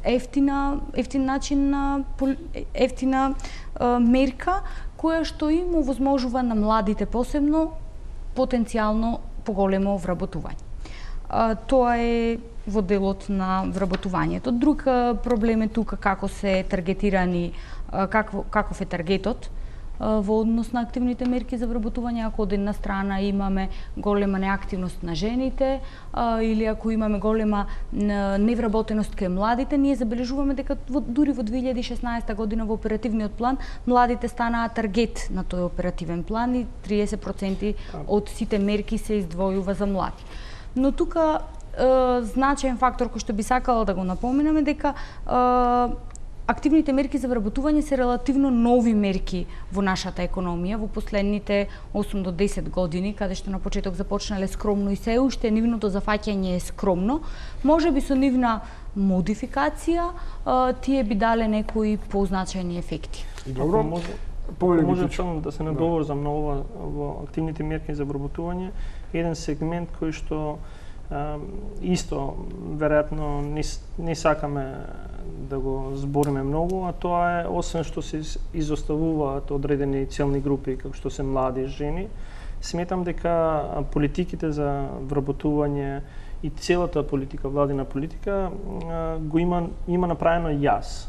ефтина ефтин начин на ефтина а, мерка која што им овозможува на младите посебно потенцијално поголемо вработување. А, тоа е во делот на вработувањето. Друг а, проблем е тука како се таргетирани, а, какво, каков е таргетот а, во однос на активните мерки за вработување. Ако од една страна имаме голема неактивност на жените а, или ако имаме голема невработеност кај младите, ние забележуваме дека во, дури во две илјади и шеснаесета година во оперативниот план младите станаа таргет на тој оперативен план и триесет проценти од сите мерки се издвојува за млади. Но тука е, значаен фактор кој што би сакала да го напоменаме дека е, активните мерки за вработување се релативно нови мерки во нашата економија во последните осум до десет години, каде што на почеток започнале скромно и се уште нивното зафаќање е скромно. Може би со нивна модификација е, тие би дале некои позначајни ефекти. Добро. Може, може само да се надоврзам на ова во активните мерки за вработување, еден сегмент кој што а, исто веројатно не, не сакаме да го збориме многу, а тоа е освен што се изоставуваат одредени целни групи како што се млади жени, сметам дека политиките за вработување и целата политика, владина политика, а, го има има направено јас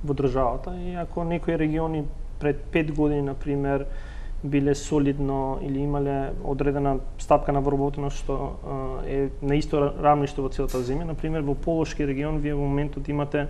во државата и ако некои региони пред пет години, например, биле солидно или имале одредена стапка на вработеност што е на исто рамниште во целата земја. Например, во Полошки регион вие во моментот имате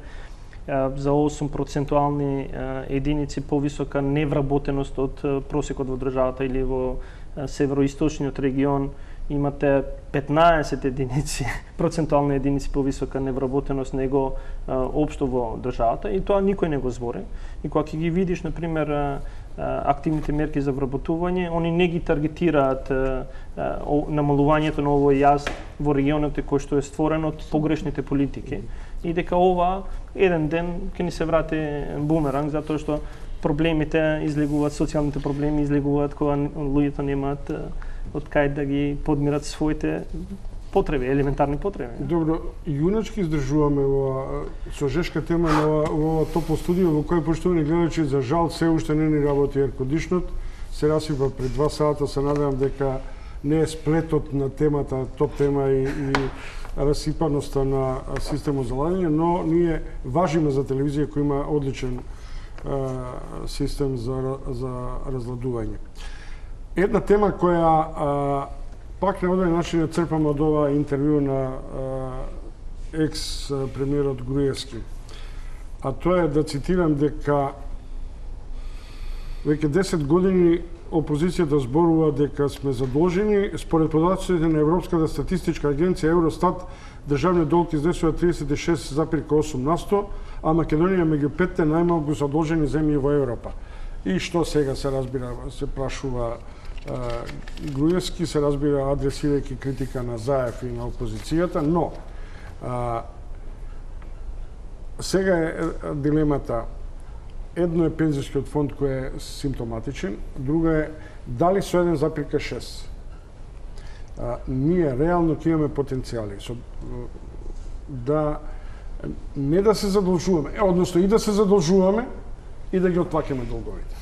за осум процентуални единици повисока невработеност од просекот во државата, или во североисточниот регион имате петнаесет единици, процентуални единици повисока невработеност него општо во државата, и тоа никој не го збори. И кога ќе ги видиш, например, активните мерки за вработување, они не ги таргетираат намалувањето на овој јаз во регионот кој што е створен од погрешните политики. И дека ова еден ден ќе ни се врати бумеранг, затоа што проблемите излегуваат, социјалните проблеми излегуваат кога луѓето немаат од кај да ги подмират своите потреби, елементарни потреби. Добро, јуначки издржуваме ова со жешка тема на ова, ова топло студио во кој, поштовани гледачи, за жал се уште не ни работи еркодишнот. Се расипа пред два сата, се надевам дека не е сплетот на темата, топ тема и, и расипаноста на системот за ладење, но ние важиме за телевизија која има одличен а, систем за, за разладување. Една тема која а, пак на оден начин ја црпам од ова интервју на екс-премиерот Груевски. А тоа е да цитирам дека веќе десет години опозицијата зборува дека сме задолжени. Според податоците на Европската статистичка агенција Евростат, државниот долг изнесува триесет и шест зарез осум на сто, а Македонија меѓу петте најмалку задолжени земји во Европа. И што сега се разбира, се прашува Груевски, се разбира адресирајќи критика на Заев и на опозицијата, но а, сега е дилемата. Едно е пензискиот фонд кој е симптоматичен, друга е дали со еден зарез шест а, ние реално ќе имаме потенцијали со, да не да се задолжуваме, односно и да се задолжуваме и да ги отплаќаме долговите.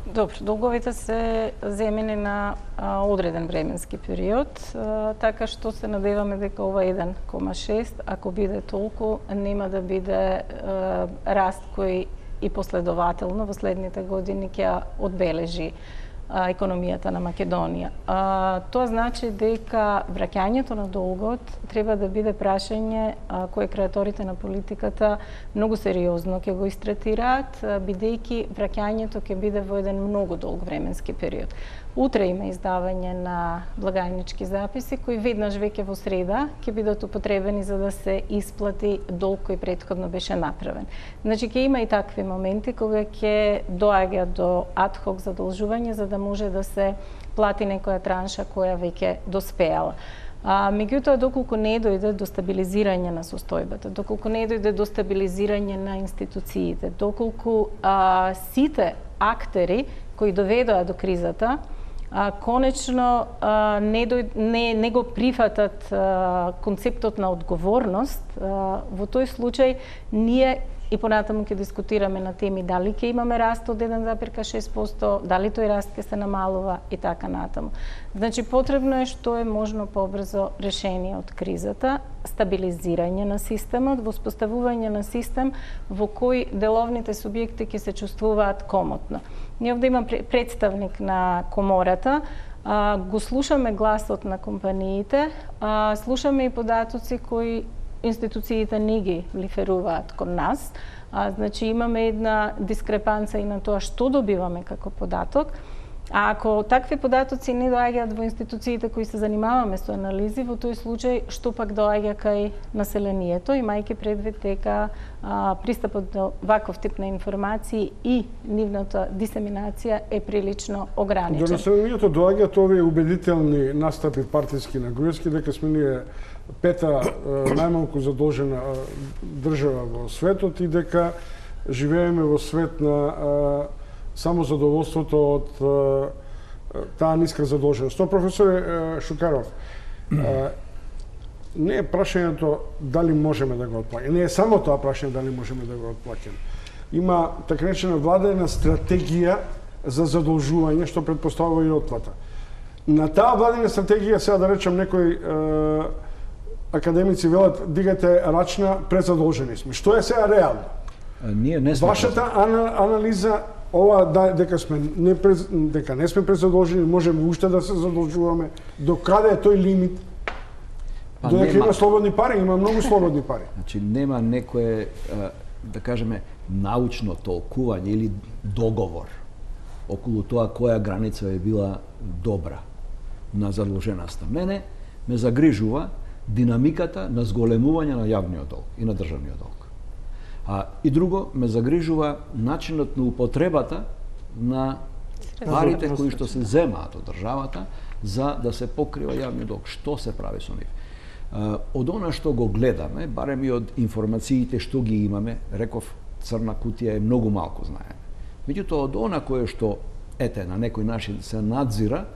Добро, долговите се земени на а, одреден временски период, а, така што се надеваме дека ова еден кома шест, ако биде толку, нема да биде а, раст кој и последователно во следните години ќе одбележи а, економијата на Македонија. А, тоа значи дека враќањето на долгот треба да биде прашање а, кое креаторите на политиката многу сериозно ќе го истретираат, бидејќи враќањето ќе биде во еден многу долг временски период. Утре има издавање на благајнички записи кои веднаш веќе во среда ќе бидат употребени за да се исплати долг кој претходно беше направен. Значи ќе има и такви моменти кога ќе доаѓа до адхок задолжување за да може да се плати некоја транша која веќе доспеала. А, меѓутоа, доколку не дојде до стабилизирање на состојбата, доколку не дојде до стабилизирање на институциите, доколку а, сите актери кои доведоа до кризата, а, конечно а, не, дој, не, не го прифатат а, концептот на одговорност, а, во тој случај ние и понатаму ќе дискутираме на теми дали ќе имаме раст од еден зарез шест проценти, дали тој раст ќе се намалува и така натаму. Значи, потребно е што е можно побрзо решение од кризата, стабилизирање на системот, воспоставување на систем во кој деловните субјекти ќе се чувствуваат комотно. Ние овде имам представник на комората, го слушаме гласот на компаниите, слушаме и податоци кои институциите не ги лиферуваат кон нас. А, значи имаме една дискрепанца и на тоа што добиваме како податок. А ако такви податоци не доаѓаат во институциите кои се занимаваме со анализи, во тој случај што пак доаѓа кај населението, имајќи предвид дека а, пристапот до ваков тип на информации и нивната дисеминација е прилично ограничен. До населението доаѓаат овие убедителни настапи партиски на Груевски дека сме ние пета најмалку задолжена држава во светот и дека живееме во свет на само задоволството од таа ниска задолженост. Тоа, професор Шукаров, не е прашањето дали можеме да го отплаќаме. Не е само тоа прашање дали можеме да го отплаќаме. Има така наречена владена стратегија за задолжување што претпоставува и отплата. На таа владена стратегија, сега да речем некој академици велат дигате рачна, презадолжени сме. Што е сега реално? Ние не сме. Вашата анализа ова да, дека сме не през, дека не сме презадолжени, можеме уште да се задолжуваме. До каде е тој лимит? Па додека нема... има слободни пари, има многу слободни пари. Значи нема некое, да кажеме, научно толкување или договор околу тоа која граница е била добра на задолженоста. Мене ме загрижува динамиката на зголемување на јавниот долг и на државниот долг. А, и друго, ме загрижува начинот на употребата на парите кои што се земаат од државата за да се покрива јавниот долг. Што се прави со нив? А, од она што го гледаме, барем и од информациите што ги имаме, реков, црна кутија е многу малку знаеме. Меѓутоа, од она кое што, ете, на некој начин се надзира,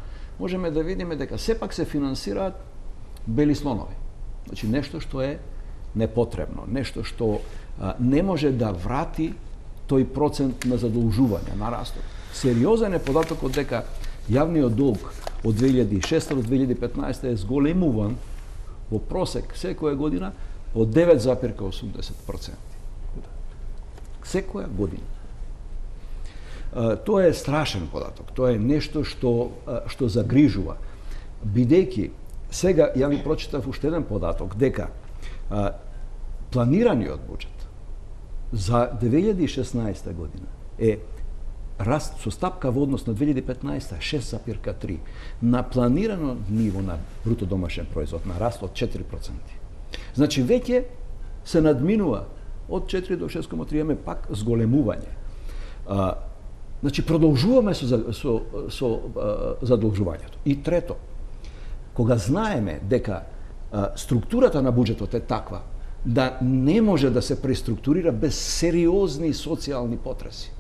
можеме да видиме дека сепак се финансираат бели слонови. Значи, нешто што е непотребно, нешто што а, не може да врати тој процент на задолжување, на растот. Сериозен е податокот дека јавниот долг од две илјади и шеста до две илјади и петнаесета е зголемуван во просек секоја година по девет зарез осумдесет проценти. Секоја година. А, тоа е страшен податок. Тоа е нешто што што загрижува. Бидејќи сега ја ви прочитав уште еден податок дека а, планираниот буџет за две илјади и шеснаесета година е раст со стапка во однос на две илјади и петнаесета шест зарез три, на планирано ниво на бруто домашен производ на раст од четири проценти. Значи веќе се надминува од четири до шест зарез три, имаме пак зголемување. А, значи продолжуваме со со со а, задолжувањето. И трето, кога знаеме дека а, структурата на буџетот е таква да не може да се преструктурира без сериозни социјални потреси.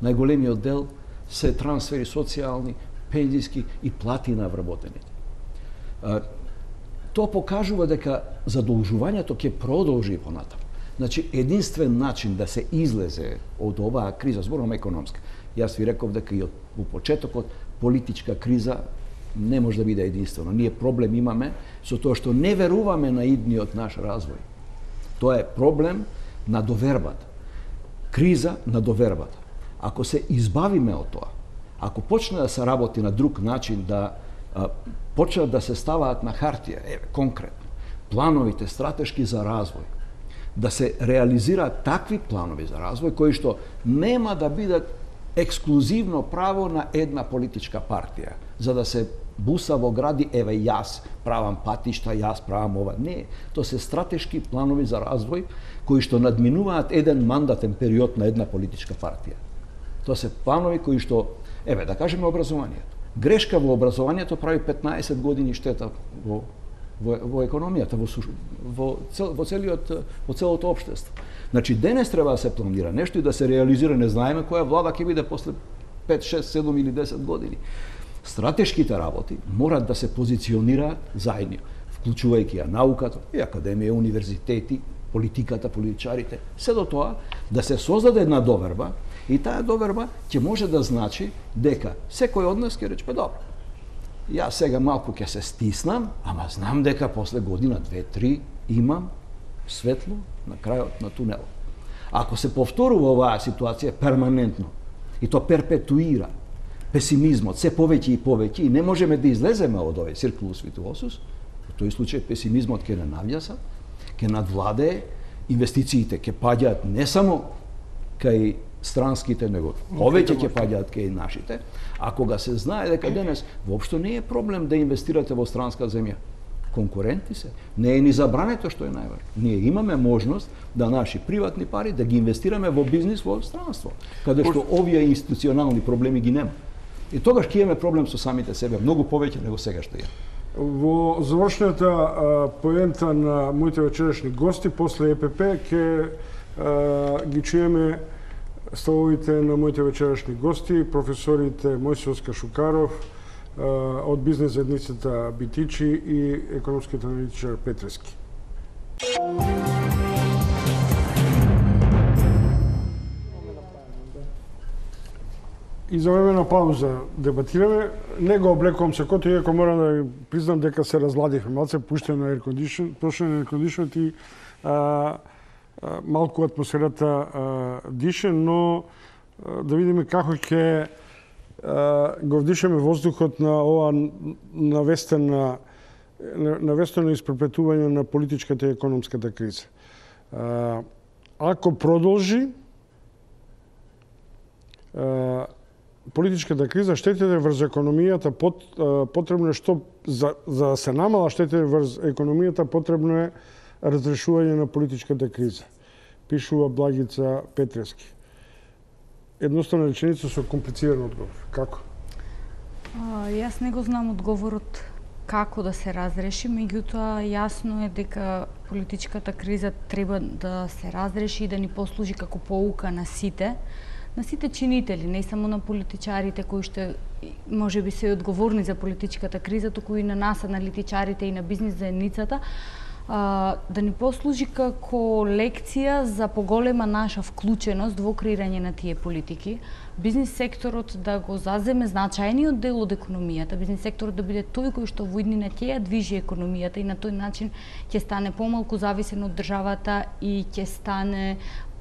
Најголемиот дел се трансфери социјални, пензиски и плати на вработените. А, тоа покажува дека задолжувањето ќе продолжи понатаму. Значи, единствен начин да се излезе од оваа криза, зборувам економска, јас ви реков дека и од во почетокот политичка криза не може да биде единствено. Ние проблем имаме со тоа што не веруваме на идниот наш развој. Тоа е проблем на довербата. Криза на довербата. Ако се избавиме од тоа, ако почне да се работи на друг начин, да а, почнат да се ставаат на хартија, еве, конкретно, плановите стратешки за развој, да се реализираат такви планови за развој кои што нема да бидат ексклузивно право на една политичка партија, за да се буса во гради, еве јас правам патишта, јас правам ова. Не, тоа се стратешки планови за развој кои што надминуваат еден мандатен период на една политичка партија. Тоа се планови кои што, еве, да кажеме образованието. Грешка во образованието прави петнаесет години штета во во, во економијата, во, во, цел, во целиот во целото општество. Значи денес треба да се планира нешто и да се реализира, не знаеме која влада ќе биде после пет, шест, седум или десет години. Стратешките работи морат да се позиционираат заедно, вклучувајќи ја науката, и академија, универзитети, политиката, политичарите, се до тоа да се создаде една доверба и таа доверба ќе може да значи дека секој од нас ќе рече, па добро, јас сега малку ќе се стиснам, ама знам дека после година, две, три имам светло на крајот на тунелот. Ако се повторува оваа ситуација перманентно и то перпетуира песимизмот се повеќе и повеќе и не можеме да излеземе од овој циркулус витуозус, во тој случај песимизмот ќе не навјаса, ќе надвладее, инвестициите ќе паѓаат не само кај странските, него повеќе ќе паѓаат кај нашите, а кога се знае дека денес воопшто не е проблем да инвестирате во странска земја, конкуренти се, не е ни забрането што е најважно. Ние имаме можност да наши приватни пари да ги инвестираме во бизнис во странство, каде што овие институционални проблеми ги нема. И тогаш ќе имаме проблем со самите себе, многу повеќе него сега што имаме. Во завршната а, поента на моите вечерашни гости, после Е Пе Пе, ќе ги чуеме ставовите на моите вечерашни гости, професорите Мојсиос Шукаров, а, од бизнес заедницата Битичи и економскиот аналитичар Петрески. И за време на пауза дебатираме. Не го облекувам секото, иако морам да ви признам дека се разладихме малце, пуштено на air condition и а, а, малку атмосферата а, дише, но а, да видиме како ќе го вдишеме воздухот на ова навестена навестено испрепетување на политичката и економската криза. А, ако продолжи а, политичката криза, штетите врз економијата пот, потребно е што за, за да се намала штетите врз економијата потребно е разрешување на политичката криза. пишува Благица Петрески. Едноставна реченица со комплициран одговор. Како? А, јас не го знам одговорот како да се разреши, меѓутоа јасно е дека политичката криза треба да се разреши и да ни послужи како поука на сите, на сите чинители, не само на политичарите кои што може би се одговорни за политичката криза, туку и на нас, аналитичарите и на бизнис заедницата, да ни послужи како лекција за поголема наша вклученост во креирање на тие политики. Бизнис секторот да го заземе значајниот дел од економијата, бизнис секторот да биде тој кој што во иднина ќе ја движи економијата и на тој начин ќе стане помалку зависен од државата и ќе стане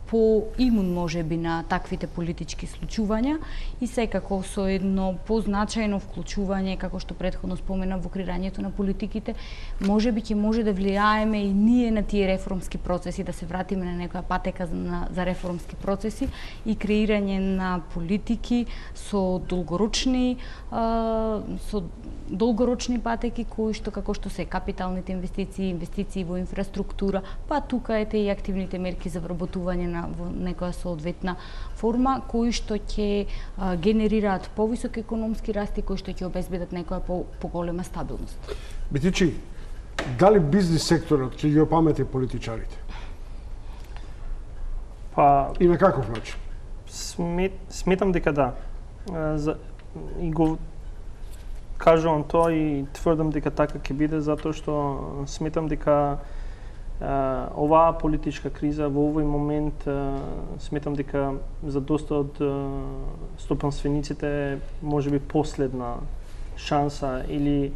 по-имун може би на таквите политички случувања и секако со едно позначајно вклучување, како што претходно спомена, во креирањето на политиките, може би ќе може да влијаеме и ние на тие реформски процеси, да се вратиме на некоја патека за, за реформски процеси и креирање на политики со долгорочни а, со долгорочни патеки кои што како што се капиталните инвестиции, инвестиции во инфраструктура, па тука ете и активните мерки за вработување на во некоја соодветна форма, кои што ќе генерираат повисок економски раст и кои што ќе обезбедат некоја по, поголема стабилност. Битичи, дали бизнис секторот ќе ги опамети политичарите? Па и на каков начин? Смет, сметам дека да. За, и го кажувам тоа и тврдам дека така ќе биде, затоа што сметам дека Uh, оваа политичка криза во овој момент uh, сметам дека за доста од uh, стопанствениците може би последна шанса или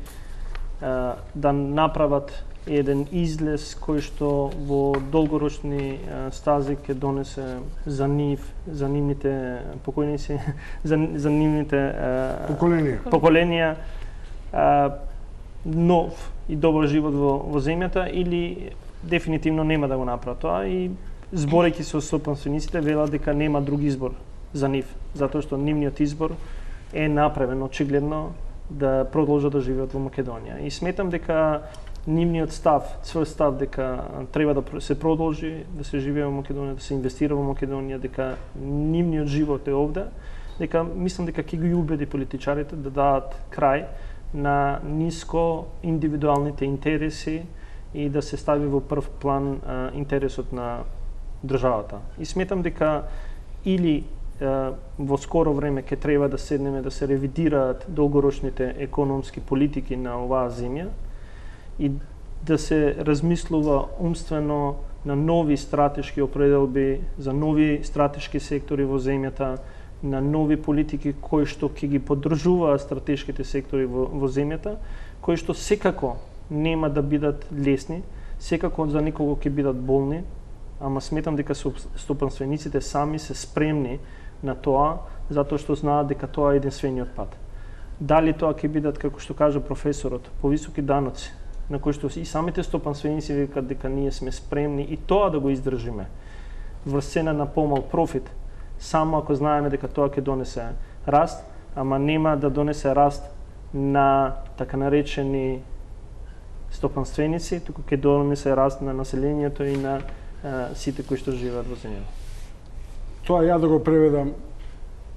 uh, да направат еден излез кој што во долгорочни uh, стази ќе донесе за нив, за нивните покојници, за, за нивните uh, поколенија, поколенија uh, нов и добар живот во, во земјата или дефинитивно нема да го направат тоа и зборејќи со стопанствениците велат дека нема друг избор за нив, затоа што нивниот избор е направен очигледно да продолжат да живеат во Македонија. И сметам дека нивниот став, цврст став дека треба да се продолжи, да се живее во Македонија, да се инвестира во Македонија, дека нивниот живот е овде, дека мислам дека ќе ги убеди политичарите да дадат крај на ниско индивидуалните интереси и да се стави во прв план а, интересот на државата. И сметам дека или а, во скоро време ќе треба да седнеме да се ревидираат долгорочните економски политики на оваа земја и да се размислува умствено на нови стратешки определби за нови стратешки сектори во земјата, на нови политики кои што ќе ги поддржуваат стратешките сектори во, во земјата, кои што секако нема да бидат лесни, секако за некого ќе бидат болни, ама сметам дека стопанствениците сами се спремни на тоа, затоа што знаат дека тоа е единствениот пат. Дали тоа ќе бидат, како што кажа професорот, повисоки даноци, на кои што и самите стопанственици викаат дека ние сме спремни и тоа да го издржиме, врз цена на помал профит, само ако знаеме дека тоа ќе донесе раст, ама нема да донесе раст на така наречени стопанственици, туку ќе донесе раст на населението и на а, сите кои што живеат во земјата. Тоа ја да го преведам,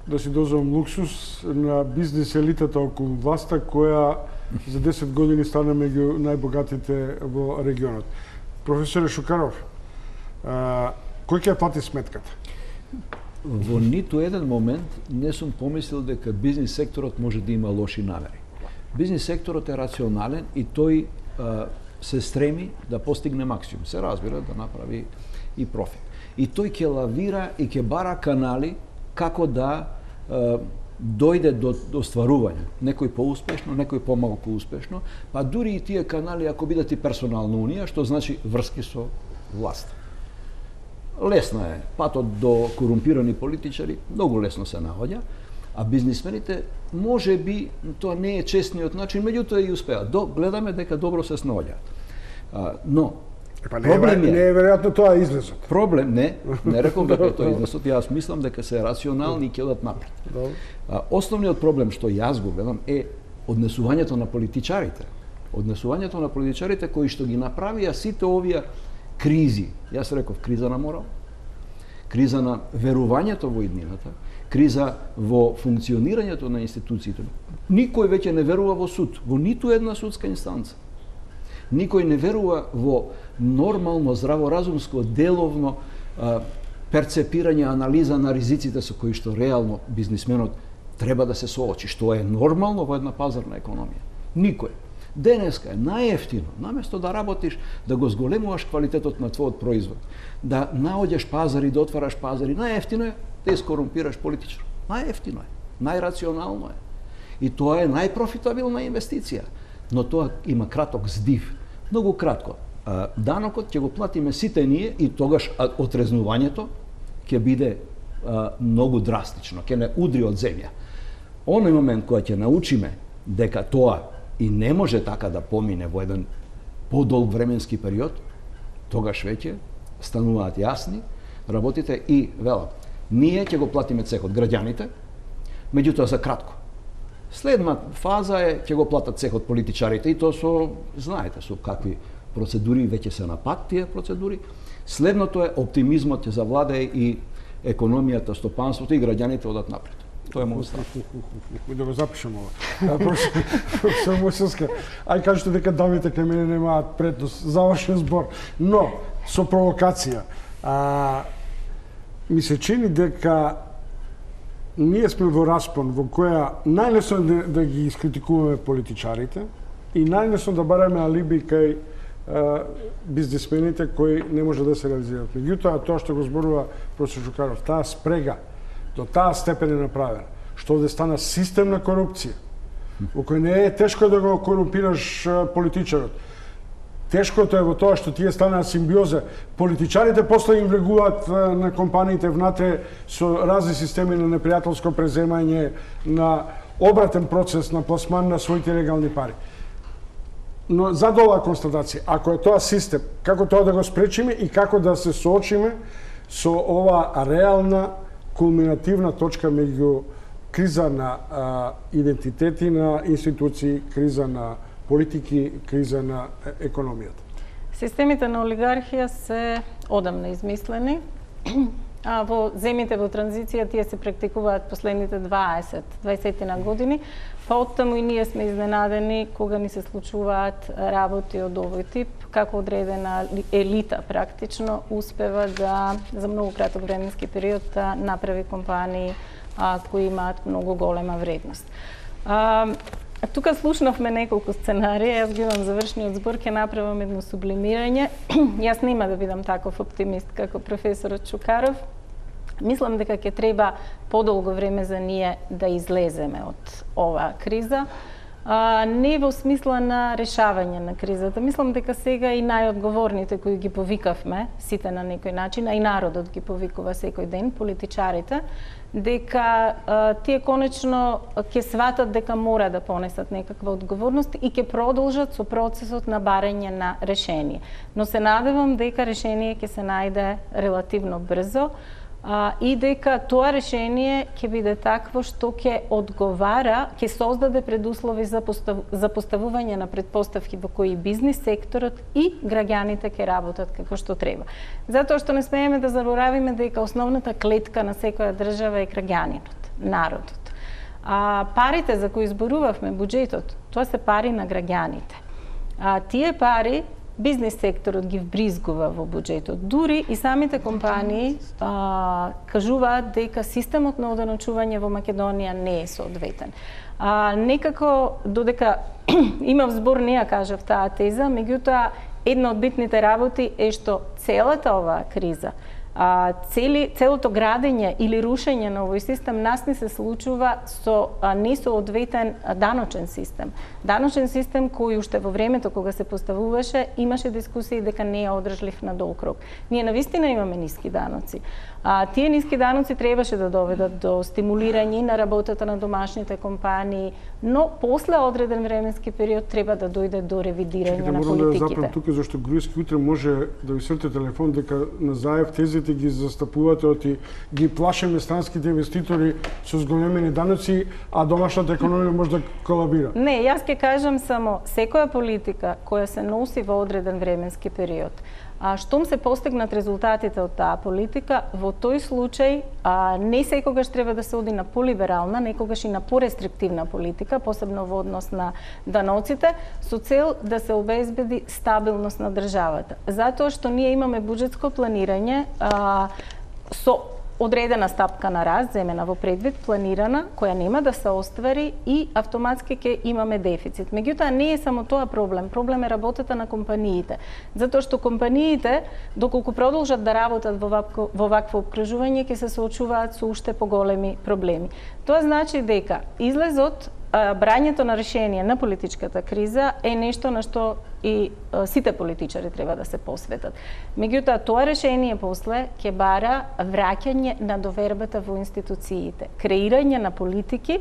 да си дозволам луксус на бизнис елитата околу власта, која за десет години стана меѓу најбогатите во регионот. Професоре Шукаров, а, кој ќе ја плати сметката? Во ниту еден момент не сум помислил дека бизнис секторот може да има лоши намери. Бизнис секторот е рационален и тој се стреми да постигне максимум. Се разбира да направи и профит. И тој ќе лавира и ќе бара канали како да е, дојде до, до стварување. Некој поуспешно, некој помалку успешно, па дури и тие канали ако бидат и персонална унија, што значи врски со власт. Лесно е. Патот до корумпирани политичари многу лесно се наоѓа, а бизнисмените може би тоа не е честниот начин, меѓутоа и успеат. До, гледаме дека добро се снаоѓаат. Но Епа не, проблем е, не е веројатно тоа излезот. Проблем не, не реков дека тоа излезот, јас мислам дека се рационални и ќе одат напред. А, основниот проблем што јас го гледам е однесувањето на политичарите. Однесувањето на политичарите кои што ги направија сите овие кризи. Јас реков криза на морал, криза на верувањето во иднината, криза во функционирањето на институциите. Никој веќе не верува во суд, во ниту една судска инстанца. Никој не верува во нормално, здраворазумско, деловно а, перцепирање, анализа на ризиците со кои што реално бизнисменот треба да се соочи, што е нормално во една пазарна економија. Никој. Денеска е најефтино, наместо да работиш, да го зголемуваш квалитетот на твојот производ, да наоѓаш пазари, да отвараш пазари, најефтино е да искорумпираш политичар. Најефтино е, најрационално е. И тоа е најпрофитабилна инвестиција. Но тоа има краток здив. Многу кратко. Данокот ќе го платиме сите ние и тогаш отрезнувањето ќе биде а, многу драстично, ќе не удри од земја. Оној момент кога ќе научиме дека тоа и не може така да помине во еден подолг временски период, тогаш веќе стануваат јасни работите и велам, ние ќе го платиме цехот, граѓаните, меѓутоа за кратко. Следна фаза е ќе го платат цехот политичарите и тоа со, знаете, со какви процедури веќе се на пат тие процедури. Следното е оптимизмот ќе завладее и економијата, стопанството и граѓаните одат напред. Тоа е мојот став. Да го запишам ова. Професор Мојсевска, ај кажете дека дамите кај мене немаат предност. Завршен збор. Но, со провокација, а, ми се чини дека ние сме во распон во која најлесно да, да ги искритикуваме политичарите и најлесно да бараме алиби кај а, бизнисмените кои не може да се реализираат. Меѓутоа, тоа што го зборува професор Чукаров, таа спрега до таа степен е направена, што овде стана системна корупција, во кој не е тешко да го корумпираш политичарот. Тешкото е во тоа што тие станаа симбиоза. Политичарите после им влегуваат на компаниите внатре со разни системи на непријателско преземање, на обратен процес на пласман на своите легални пари. Но зад оваа констатација, ако е тоа систем, како тоа да го спречиме и како да се соочиме со ова реална кулминативна точка меѓу криза на а, идентитети на институции, криза на политики, криза на економијата. Системите на олигархија се одамна измислени, а во земјите во транзиција тие се практикуваат последните дваесет до дваесет на години, па оттаму и ние сме изненадени кога ни се случуваат работи од овој тип, како одредена елита практично успева да за многу краток временски период да направи компании а, кои имаат многу голема вредност. А, Тука слушнавме неколку сценарија, јас ги имам завршниот збор, ќе направам едно сублимирање. Јас нема да бидам таков оптимист како професорот Чукаров. Мислам дека ќе треба подолго време за ние да излеземе од оваа криза. А, не во смисла на решавање на кризата. Мислам дека сега и најодговорните кои ги повикавме, сите на некој начин, а и народот ги повикува секој ден, политичарите, дека а, тие конечно ќе сватат дека мора да понесат некаква одговорност и ќе продолжат со процесот на барање на решение. Но се надевам дека решение ќе се најде релативно брзо, а, и дека тоа решение ќе биде такво што ќе одговара, ќе создаде предуслови за, постав, за поставување на предпоставки во кои бизнис секторот и граѓаните ќе работат како што треба. Затоа што не смееме да заборавиме дека основната клетка на секоја држава е граѓанинот, народот. А парите за кои зборувавме, буџетот, тоа се пари на граѓаните. А тие пари бизнис секторот ги вбризгува во буџетот. Дури и самите компании а, кажуваат дека системот на одоночување во Македонија не е соодветен. А, некако, додека имав збор, не ја кажав таа теза, меѓутоа, една од битните работи е што целата оваа криза, а, цели, целото градење или рушење на овој систем нас не се случува со а, несоодветен даночен систем. Даночен систем кој уште во времето кога се поставуваше имаше дискусии дека не е одржлив на долг рок. Ние навистина имаме ниски даноци. А, тие ниски даноци требаше да доведат до стимулирање на работата на домашните компании, но после одреден временски период треба да дојде до ревидирање на политиките. Морам да запрем тука зашто Груевски утре може да ви срте телефон дека на Заев тезите ги застапувате оти ги плашеме странските инвеститори со зголемени даноци, а домашната економија може да колабира. Не, јас ќе кажам само секоја политика која се носи во одреден временски период, А штом се постигнат резултатите од таа политика, во тој случај а, не секогаш треба да се оди на полиберална, некогаш и на порестриктивна политика, посебно во однос на даноците, со цел да се обезбеди стабилност на државата. Затоа што ние имаме буџетско планирање а, со одредена стапка на раст, земена во предвид, планирана, која нема да се оствари и автоматски ќе имаме дефицит. Меѓутоа, не е само тоа проблем. Проблем е работата на компаниите. Затоа што компаниите, доколку продолжат да работат во вакво, во вакво обкружување, ќе се соочуваат со уште поголеми проблеми. Тоа значи дека излезот, брањето на решение на политичката криза е нешто на што и сите политичари треба да се посветат. Меѓутоа, тоа решение после ќе бара враќање на довербата во институциите, креирање на политики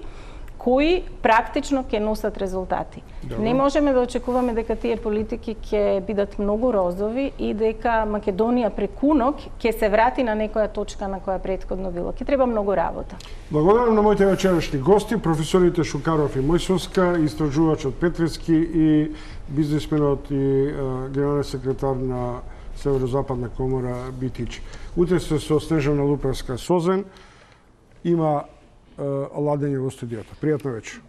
кои практично ќе носат резултати. Добро. Не можеме да очекуваме дека тие политики ќе бидат многу розови и дека Македонија преку ног ќе се врати на некоја точка на која претходно било. Ќе треба многу работа. Благодарам на моите вечерашни гости, професорите Шукаров и Мојсовска, истражувачот Петрески и бизнисменот и е, генерален секретар на Северозападна комора Битич. Утре се со Снежана Луперска Созен. Има ладење во студијата. Пријатна вечер.